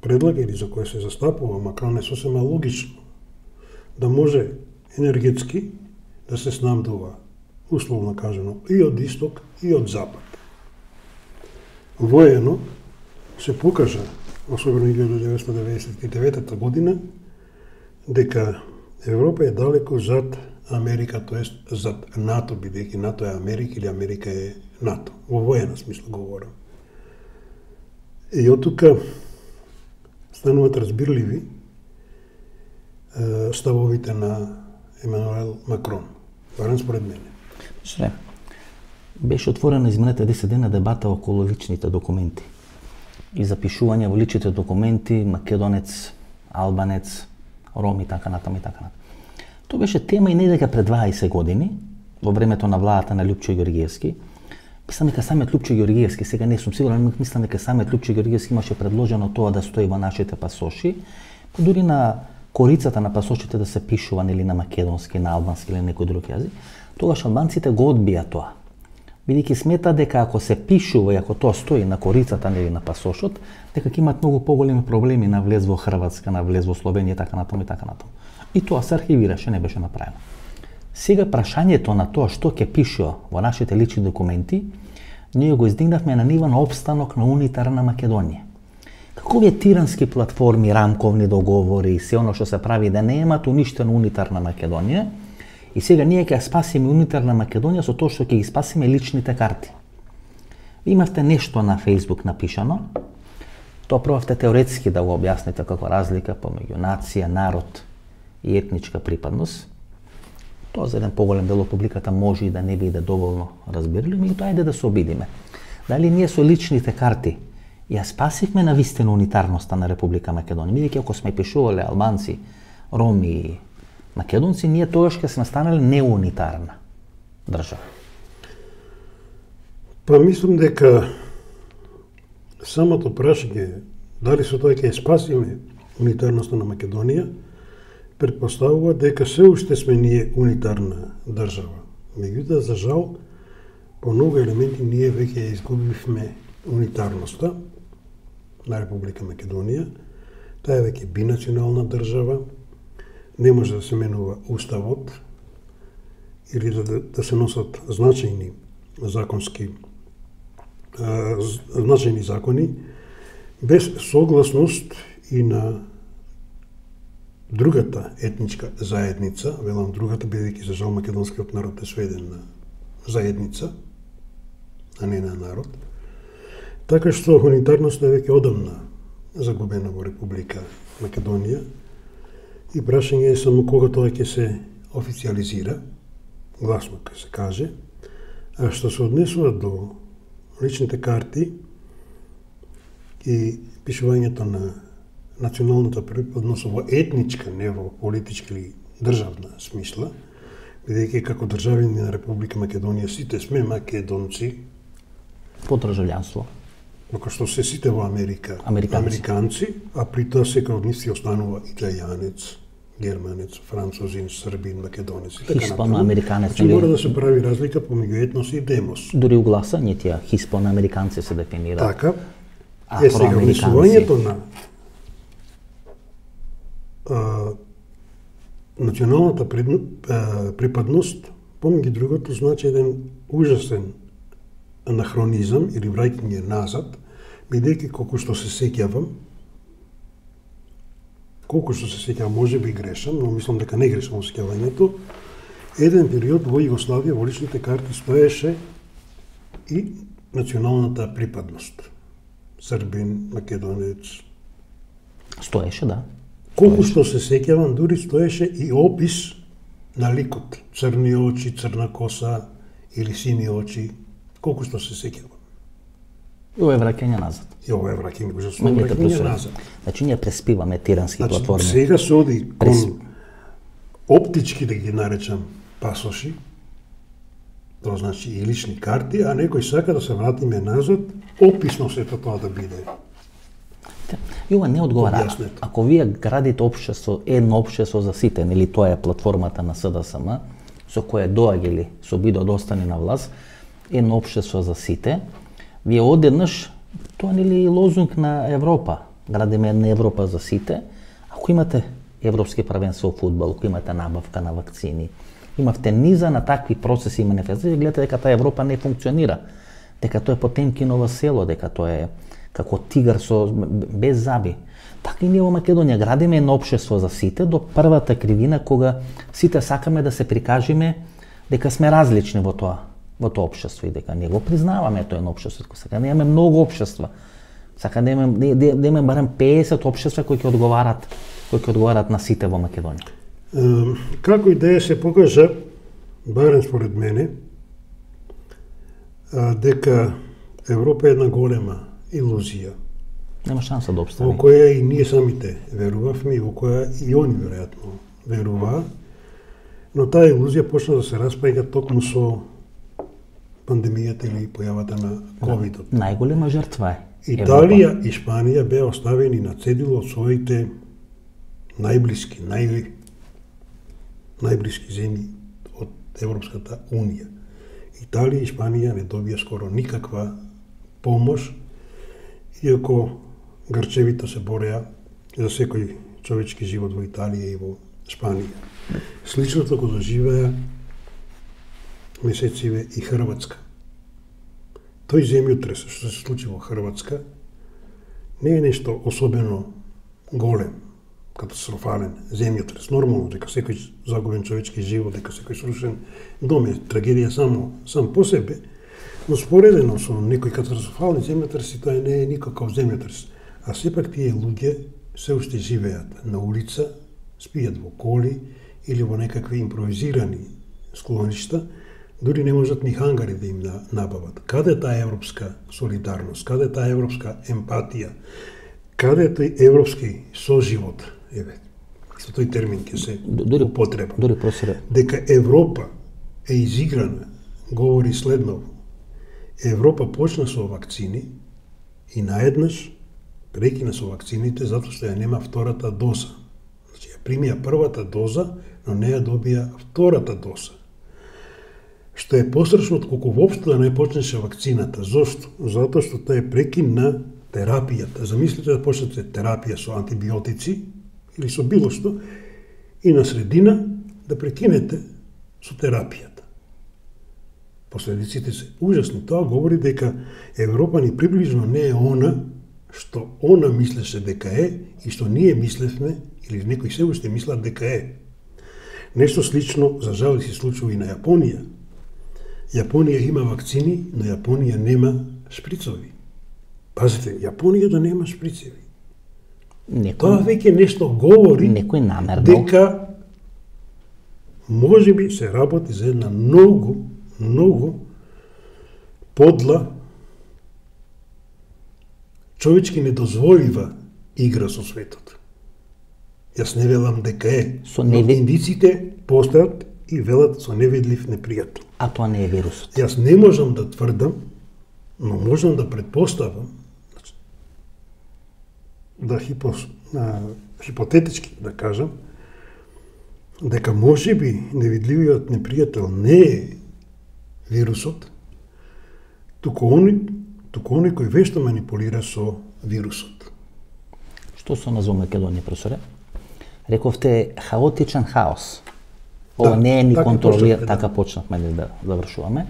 предлага или за кое се застапува Макрон е сосема логично да може енергетски да се снабдува, условно кажано, и од исток и од запад. Воено се покажа, особено 1999 година, дека Европа е далеко зад Америка, тоест зад НАТО, бидејќи НАТО е Америка или Америка е НАТО. Во воена смисла говорам. И од тука стануваат разбирливи ставовите на Емануел Макрон, барем според мене. Беше отворена изминатите 10 дена дебата околу личните документи и запишување во личните документи македонец, албанец, ром и така натаму и така натаму. Тоа беше тема и не дека пред 20 години, во времето на владата на Љупчо Ѓорѓиевски. Мислам дека самиот Љупчо Ѓорѓиевски, сега не сум сигурен, мислам дека самиот Љупчо Ѓорѓиевски имаше предложено тоа да стои во нашите пасоши, па дури на корицата на пасошите да се пишува или на македонски, на албански или некој друг јазик. Тогаш албанците го одбија тоа. Бидејќи смета дека ако се пишува и ако тоа стои на корицата или на пасошот, дека ќе имаат многу поголеми проблеми на влез во Хрватска, на влез во Словенија, така натаму и така натаму. И тоа се архивираше, не беше направено. Сега прашањето на тоа што ќе пишува во нашите лични документи, ние го издигнавме на нива на опстанок на унитарна Македонија. Какови е тирански платформи, рамковни договори и се оно што се прави да немаат уништена унитарна Македонија, и сега ние ќе спасиме унитарна Македонија со тоа што ќе ги спасиме личните карти. Имавте нешто на Facebook напишано, тоа пробавте теоретски да го објасните како разлика помеѓу нација, народ и етничка припадност. Тоа за еден поголем дел од публиката може и да не биде доволно разбирливо, и тоа ајде да се обидиме. Дали ние со личните карти ја спасивме на вистина унитарноста на Република Македонија, бидејќи ако сме пишувале албанци, роми и македонци, ние тогаш ќе сме станале неунитарна држава. Па мислам дека самото прашање дали со тоа ќе спасиме унитарноста на Македонија предпоставува дека се уште сме ние унитарна држава. Меѓутоа, за жал, по многу елементи ние веќе ја изгубивме унитарноста на Република Македонија. Таа е веќе бинационална држава, не може да се менува уставот или да се носат значајни закони без согласност и на другата етничка заедница, велам другата, бидејќи за жал македонскиот народ е сведен на заедница, а не на народ, така што унитарноста е веќе одамна загубена во Република Македонија и прашање е само кога тоа ќе се официализира, гласно ќе се каже, а што се однесува до личните карти и пишувањето на националната припадност во етничка, не во политичка или државна смисла, бидејќи како државјани на Република Македонија сите сме македонци по државјанство. Како што се сите во Америка Американци, а при тоа секој од нив си останува италијанец, германец, французин, србин, македонец и така натаму. Хиспано-американец. Значи мора да се прави разлика помеѓу етнос и демос. Дури у гласањето хиспано-американци се дефинира. Така. Сега внесувањето на националната припадност, помеѓу другото, значи еден ужасен анахронизам или враќање назад, бидејќи колку што се сеќавам, може би грешам, но мислам дека не грешам во сеќавањето, еден период во Југославија во личните карти стоеше и националната припадност. Србин, македонец. Стоеше, да. Колку што се сеќавам, дури стоеше и опис на ликот. Црни очи, црна коса или сини очи. Колку што се сеќавам. И ова е враќање назад. И ова е враќање назад. Значи, ние преспиваме тирански платформи. Сега се оди кон оптички, да ги наречам, пасоши, тоа значи и лични карти, а некој сака да се вратиме назад, описно сето тоа да биде. И ова не одговара. Ако вие градите општество, едно општество за сите, нели тоа е платформата на СДСМ, со која доаѓали со бидо да остане на власт, едно општество за сите, вие одеднаш, тоа нели лозунг на Европа, градиме една Европа за сите, ако имате европски првенство во фудбал, ако имате набавка на вакцини, имавте низа на такви процеси и манифестации, гледате дека таа Европа не функционира, дека тоа е Потемкиново село, дека тоа е како тигар без заби. Така и ние во Македонија градиме едно општество за сите до првата кривина кога сите сакаме да се прикажеме дека сме различни во тоа општество и дека ние го признаваме тоа едно општество. Сака да имаме многу општества. Сака да имаме барем 50 општества кои ќе одговарат на сите во Македонија. Како идеја се покажа, барем според мене, дека Европа е една голема илузија. Нема шанса да обстане. Во која и ние самите верувавме и во која и они веројатно веруваа, но таа илузија почна да се распаѓа токму со пандемијата или појавата на ковидот. Најголема жртва е Италија и Шпанија беа оставени на цедило од своите најблиски земји од Европската Унија. Италија и Шпанија не добија скоро никаква помош, иако Грчевите се бореа за секој човечки живот во Италија и во Шпанија. Сличното го доживеа месециве и Хрватска. Тој земјотрес што се случи во Хрватска не е нешто особено голем, катастрофален земјотрес. Нормално дека секој загубен човечки живот, дека секој срушен дом е трагедија сам по себе, но споредено со некои катастрофални земјотреси, тоа не е никаков земјотрес. А сепак тие луѓе се уште живеат на улица, спијат во коли или во некакви импровизирани склоништа, дури не можат ни хангари да им набават. Каде е таа европска солидарност? Каде е таа европска емпатија? Каде е тој европски соживот? Со тој термин ќе се употреба. Дека Европа е изиграна, говори следново. Европа почна со вакцини и наеднаш прекина со вакцините затоа што ја нема втората доза. Значи, ја примија првата доза, но не ја добија втората доза. Што е пострашно од колку воопшто да не почнеше вакцината. Зошто? Затоа што тоа е прекин на терапијата. Замислите да почнете терапија со антибиотици или со било што и на средина да прекинете со терапијата. Последиците се ужасни. Тоа говори дека Европа ни приближно не е она што она мислеше дека е и што ние мислевме, или некои се уште мислат дека е. Нешто слично, за жал, се случува и на Јапонија. Јапонија има вакцини, но Јапонија нема шприцови. Пазите, Јапонија да нема шприцови. Тоа веќе нешто говори некој намерно дека може би се работи за една многу подла, човечки недозволива игра со светот. Јас не велам дека е, но индиците постојат и велат со невидлив непријател. А тоа не е вирусот. Јас не можам да тврдам, но можам да предпоставам, да хипотетички да кажам, дека може би невидливиот непријател не е вирусот, туку оној кој вешто манипулира со вирусот. Што се на Македонија, професоре? Рековте хаотичен хаос. Ова не е ни контролиран, така почнавме да завршуваме.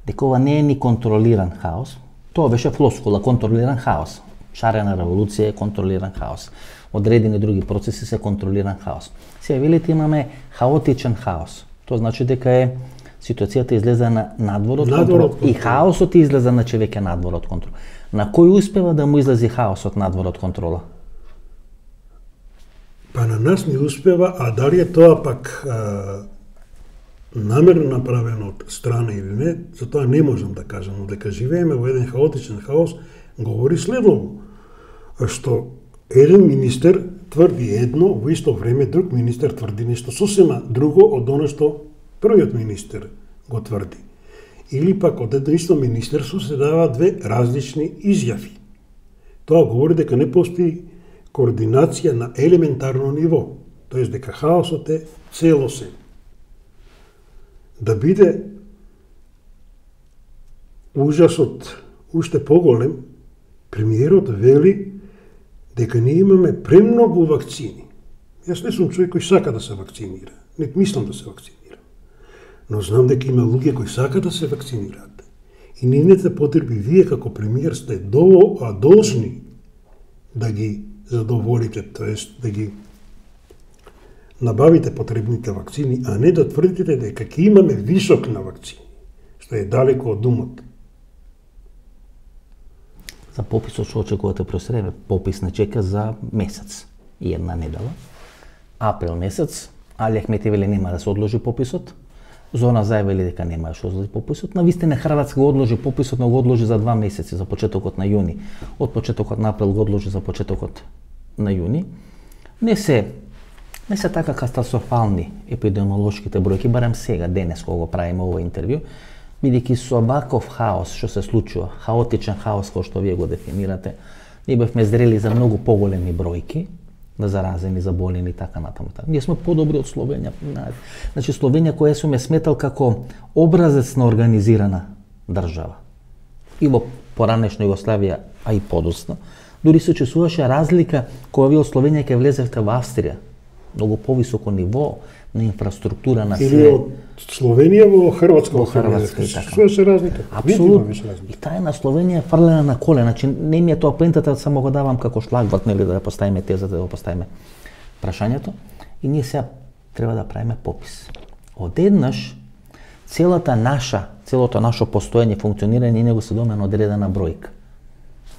Дека ова не е ни контролиран хаос. Тоа беше флоскула, контролиран хаос. Шарена револуција е контролиран хаос. Одредени други процеси се контролиран хаос. Сега велите имаме хаотичен хаос. Тоа значи дека е ситуацијата излезе на надвор од контрол и хаосот излезе на веќе надвор од контрол. На кој успева да му излези хаосот надвор од контрола? Па на нас не успева, а дали е тоа пак намерно направено од страна или не, за тоа не можам да кажам, но дека живееме во еден хаотичен хаос, говори следово, што еден министер тврди едно, во исто време друг министер тврди нешто сосема друго од оно што првиот министер го тврди. Или пак од едно исто министерство се дава две различни изјави. Тоа говори дека не постои координација на елементарно ниво, тоест дека хаосот е целосен. Да биде ужасот уште поголем, премиерот вели дека ние имаме премногу вакцини. Јас не сум човек кој сака да се вакцинира, не мислам да се вакцинирам. Но знам дека има луѓе кои сака да се вакцинираат. И нивните потреби вие како премиер сте должни да ги задоволите, тоест да ги набавите потребните вакцини, а не да тврдите дека ќе имаме висок на вакцини, што е далеко од умот. За пописот што очекувате просреме, попис не чека за месец и една недела. Април месец, Али Ахмети вели нема да се одложи пописот. Зона Зај вели дека нема да се одложи пописот. На вистина Хрватска го одложи пописот, но го одложи за 2 месеци, за почетокот на јуни. Од почетокот на април го одложи за почетокот на јуни. Не се така катастрофални епидемиолошките бројки, барем сега, денес, кога го правиме ово интервју, бидејќи со ваков хаос што се случува, хаотичен хаос кој што вие го дефинирате, ние бевме зрели за многу поголеми бројки на заразени, заболени и така натаму. Ние сме подобри од Словенија. Значи Словенија која сум е сметал како образец на организирана држава. И во поранешна Југославија, а и подоцна, дури се чувствуваше разлика кога вие од Словенија ќе влезевте во Австрија. Многу повисоко ниво на инфраструктура на све. Или од Словенија во Хрватска. Во Хрватска и така. Што се разлика? Апсолутно. И таа на Словенија фрлена на колена. Значи не ми е тоа поентата, само го давам како шлагбат, нели, да ја поставиме тезата, да го поставиме прашањето. И ние сега треба да правиме попис. Одеднаш целото наше постоење, функционирање, него се доме на одредена бројка.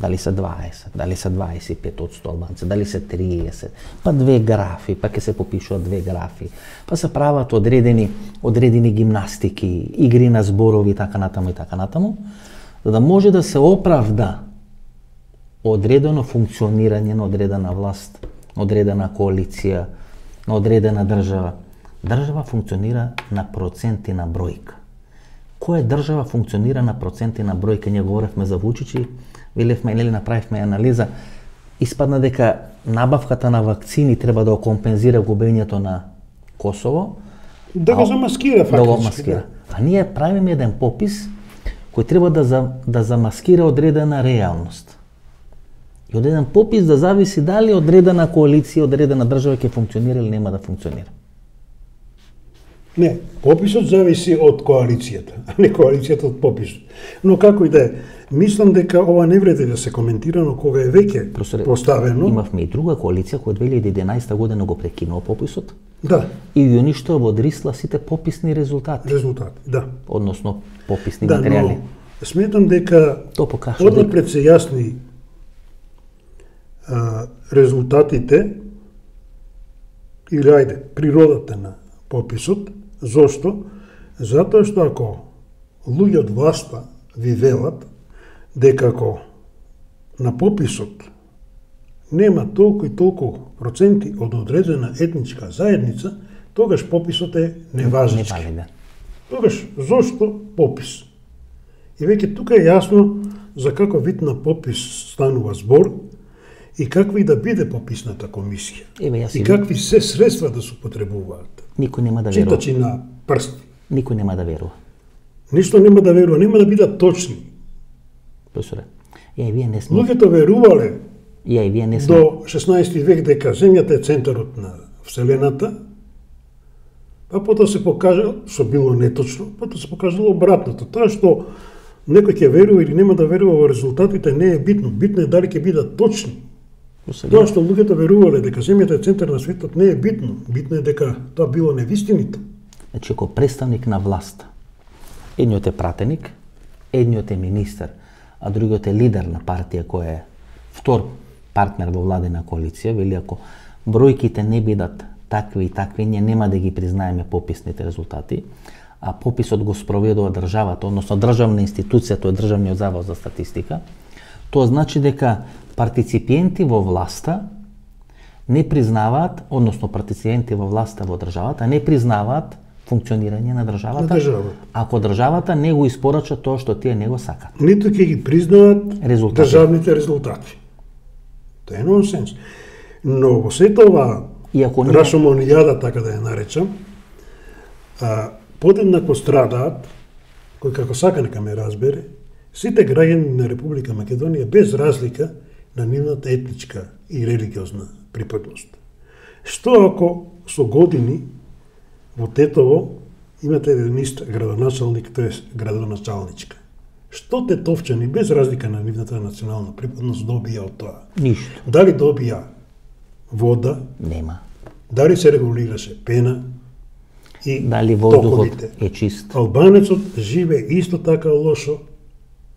Дали се 20, дали се 25% албанци, дали се 30, па 2 графи, па ќе се попишуваат 2 графи, па се прават одредени гимнастики, игри на зборови, така натаму, за да може да се оправда одредено функционирање на одредена власт, на одредена коалиција, на одредена држава. Држава функционира на проценти на бројка. Која држава функционира на проценти на бројка? Ние говоревме за Вучичи, велевме, нели, направивме анализа, испадна дека набавката на вакцини треба да компензира губењето на Косово. Да го замаскира фактички. Да го маскира. А ние правиме еден попис кој треба да замаскира одредена реалност. И од еден попис да зависи дали одредена коалиција, одредена држава ќе функционира или нема да функционира. Не, пописот зависи од коалицијата, а не коалицијата од пописот. Но како и да е, мислам дека ова не вреди да се коментира, но кога е веќе поставено... Имавме и друга коалиција која 2011 година го прекинува пописот. Да. И ги уништува во Дрисла сите пописни резултати. Да. Односно пописни материјали. Но сметам дека однапред се јасни резултатите или ајде, природата на пописот. Зошто? Затоа што ако луѓе од власта ви велат дека ако на пописот нема толку и толку проценти од одредена етничка заедница, тогаш пописот е неважнички. Тогаш зошто попис? И веќе тука е јасно за каков вид на попис станува збор и каква и да биде пописната комисија. И какви се средства да се употребуваат. Никој нема да верува. Читачи на прсти. Никој нема да верува. Ништо нема да верува, нема да бидат точни. Професоре, вие не сме... Луѓето верувале вие не сме... до 16 век дека земјата е центарот на Вселената, а потоа се покажа, што било неточно, потоа се покажало обратното. Тоа што некој ќе верува или нема да верува во резултатите не е битно. Битно е дали ќе бидат точни. Тоа што луѓето верувале дека земјата е центар на светот не е битно. Битно е дека тоа било невистиното. Значи, ако представник на власта, едниот е пратеник, едниот е министер, а другиот е лидер на партија која е втор партнер во владена коалиција, вели ако бројките не бидат такви и такви, ние нема да ги признаеме пописните резултати, а пописот го спроведува државата, односно државна институција, тоа е Државниот завод за статистика, тоа значи дека партиципиенти во власта не признаваат, односно партиципиенти во власта во државата не признаваат функционирање на државата, ако државата не го испорача тоа што тие не го сакат. Ниту ќе ги признаат државните резултати. Тоа е нонсенс. Но во сета ова рашомонијада, така да ја наречам, подеднакво страдаат, кој како сака нека ме разбере, сите граѓани на Република Македонија без разлика на нивната етничка и религиозна припадност. Што ако со години во Тетово имате еден ист градоначалник, тоа е градоначалничка? Што тетовчани без разлика на нивната национална припадност добија од тоа? Ништо. Дали добија вода? Нема. Дали се регулираше пена? И дали воздухот е чист? Албанецот живе исто така лошо,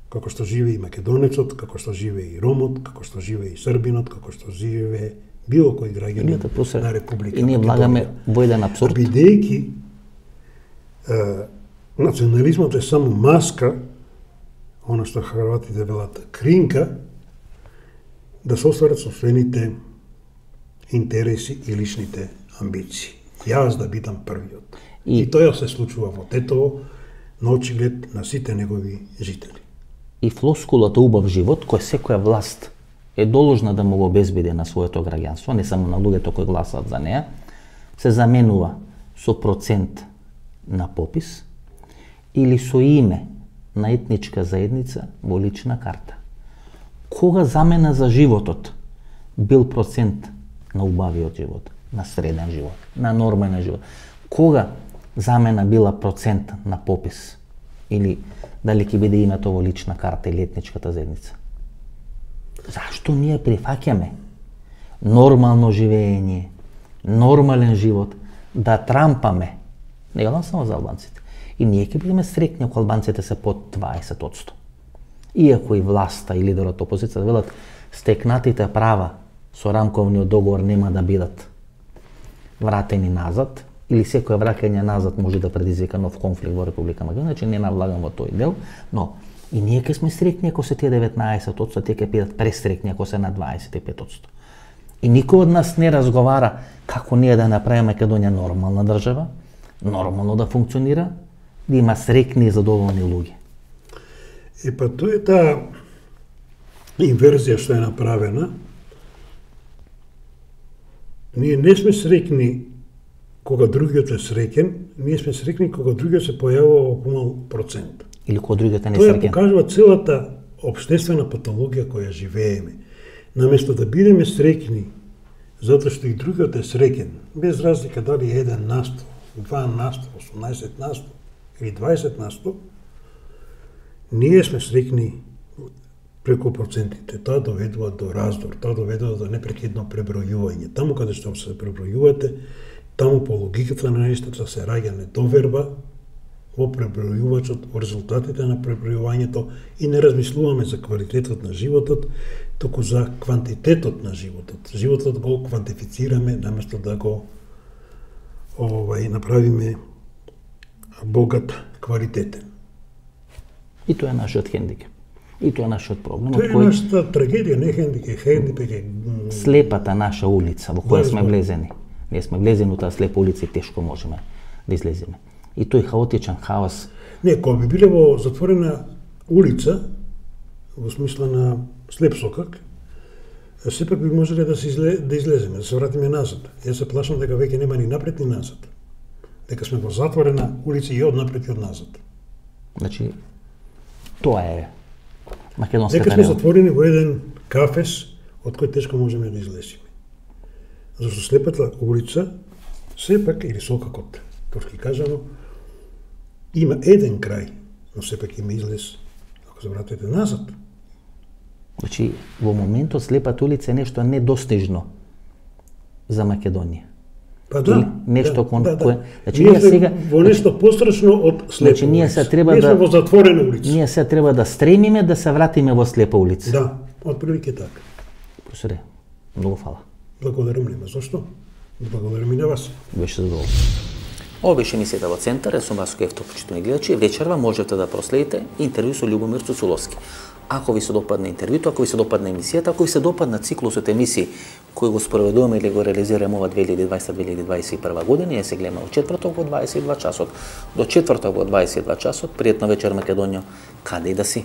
како што живе и македонецот, како што живе и ромот, како што живе и србинот, како што живе било кој граѓанин на Република Македонија. И ние влагаме во еден апсурд. Бидејќи национализмот е само маска, она што хрватите велат кринка, да се остварат собствените интереси и личните амбиции. Јас да бидам првиот. И тоа се случува во Тетово, на очиглед на сите негови жители. И флоскулата убав живот, кој секоја власт е должна да му го обезбеди на своето граѓанство, не само на луѓето кои гласаат за неа, се заменува со процент на попис или со име на етничка заедница во лична карта. Кога замена за животот бил процент на убавиот живот, на среден живот, на нормален живот? Кога замена била процент на попис или дали ќе биде името во лична карта или етничката заедница? Зашто ние прифаќаме нормално живење, нормален живот, да трампаме? Не гледам само за албанците. И ние ќе бидеме среќни ако албанците се под 20%. Иако и власта и лидерот опозиција велат стекнатите права со рамковниот договор нема да бидат вратени назад, или секој враќање назад може да предизвика нов конфликт во Република Македонија, значи не навлагам во тој дел, но и ние ќе сме среќни ако се тие 19%, тие ќе бидат пресреќни ако се на 25%. И никој од нас не разговара како ние да направиме Македонија нормална држава, нормално да функционира, да има среќни и задоволни луѓе. Па тоа е таа инверзија што е направена. Ние не сме среќни кога другиот е среќен, ние сме среќни кога другиот се појавува во помал процент. Или кога другиот е несреќен. Тоа покажува целата општествена патологија која живееме. Наместо да бидеме среќни затоа што и другиот е среќен, без разлика дали е 1%, 2%, 18% или 20%, ние сме срекни преку процентите. Тоа доведува до раздор, тоа доведува до непрекидно пребројување. Таму каде што се пребројувате, таму по логиката на нештата се раѓа недоверба во пребројувачот, во резултатите на пребројувањето и не размислуваме за квалитетот на животот, туку за квантитетот на животот. Животот го квантифицираме наместо да го направиме богат, квалитетен. И тоа е нашиот хендикеп. И тоа е нашиот проблем. Тоа е нашата трагедија, не хендикеп е слепата наша улица во која сме влезени. Ние сме влезени во таа слепа улица и тешко можеме да излеземе. И тој хаотичен хаос. Не, кога би биле во затворена улица, во смисла на слеп сокак, сепак би можеле да излеземе, да се вратиме назад. Јас се плашам дека веќе нема ни напред ни назад. Дека сме во затворена улица и од напред и од назад. Значи, тоа е македонската дека сме затворени во еден кафес од кој тешко можеме да излеземе. Зашто слепата улица, сепак, или сокакот, турски кажано, има еден крај, но сепак има излез, ако се вратите назад. Значи, во моментот слепата улица е нешто недостижно за Македонија. Па да, нешто кое... Значи, ние сега во нешто пострашно од слепа значи, ние улица. Треба ние сме во затворена улица. Ние се треба да стремиме да се вратиме во слепа улица. Да, отприлике така. Професоре, многу фала. Благодарам нема. Зошто? Благодарам и на вас. Беше задоволство. Ова беше емисијата во Центар, сум Васко Ефтов, почитувани гледачи. Вечерва можете да проследите интервју со Љубомир Цуцуловски. Ако ви се допадне интервјуто, ако ви се допадне емисијата, ако ви се допадна циклусот емисии кој го спроведуваме или го реализираме ова 2020-2021 година, ја се гледаме во четврток во 22 часот. До четврток во 22 часот, пријатна вечер Македонија, каде и да си.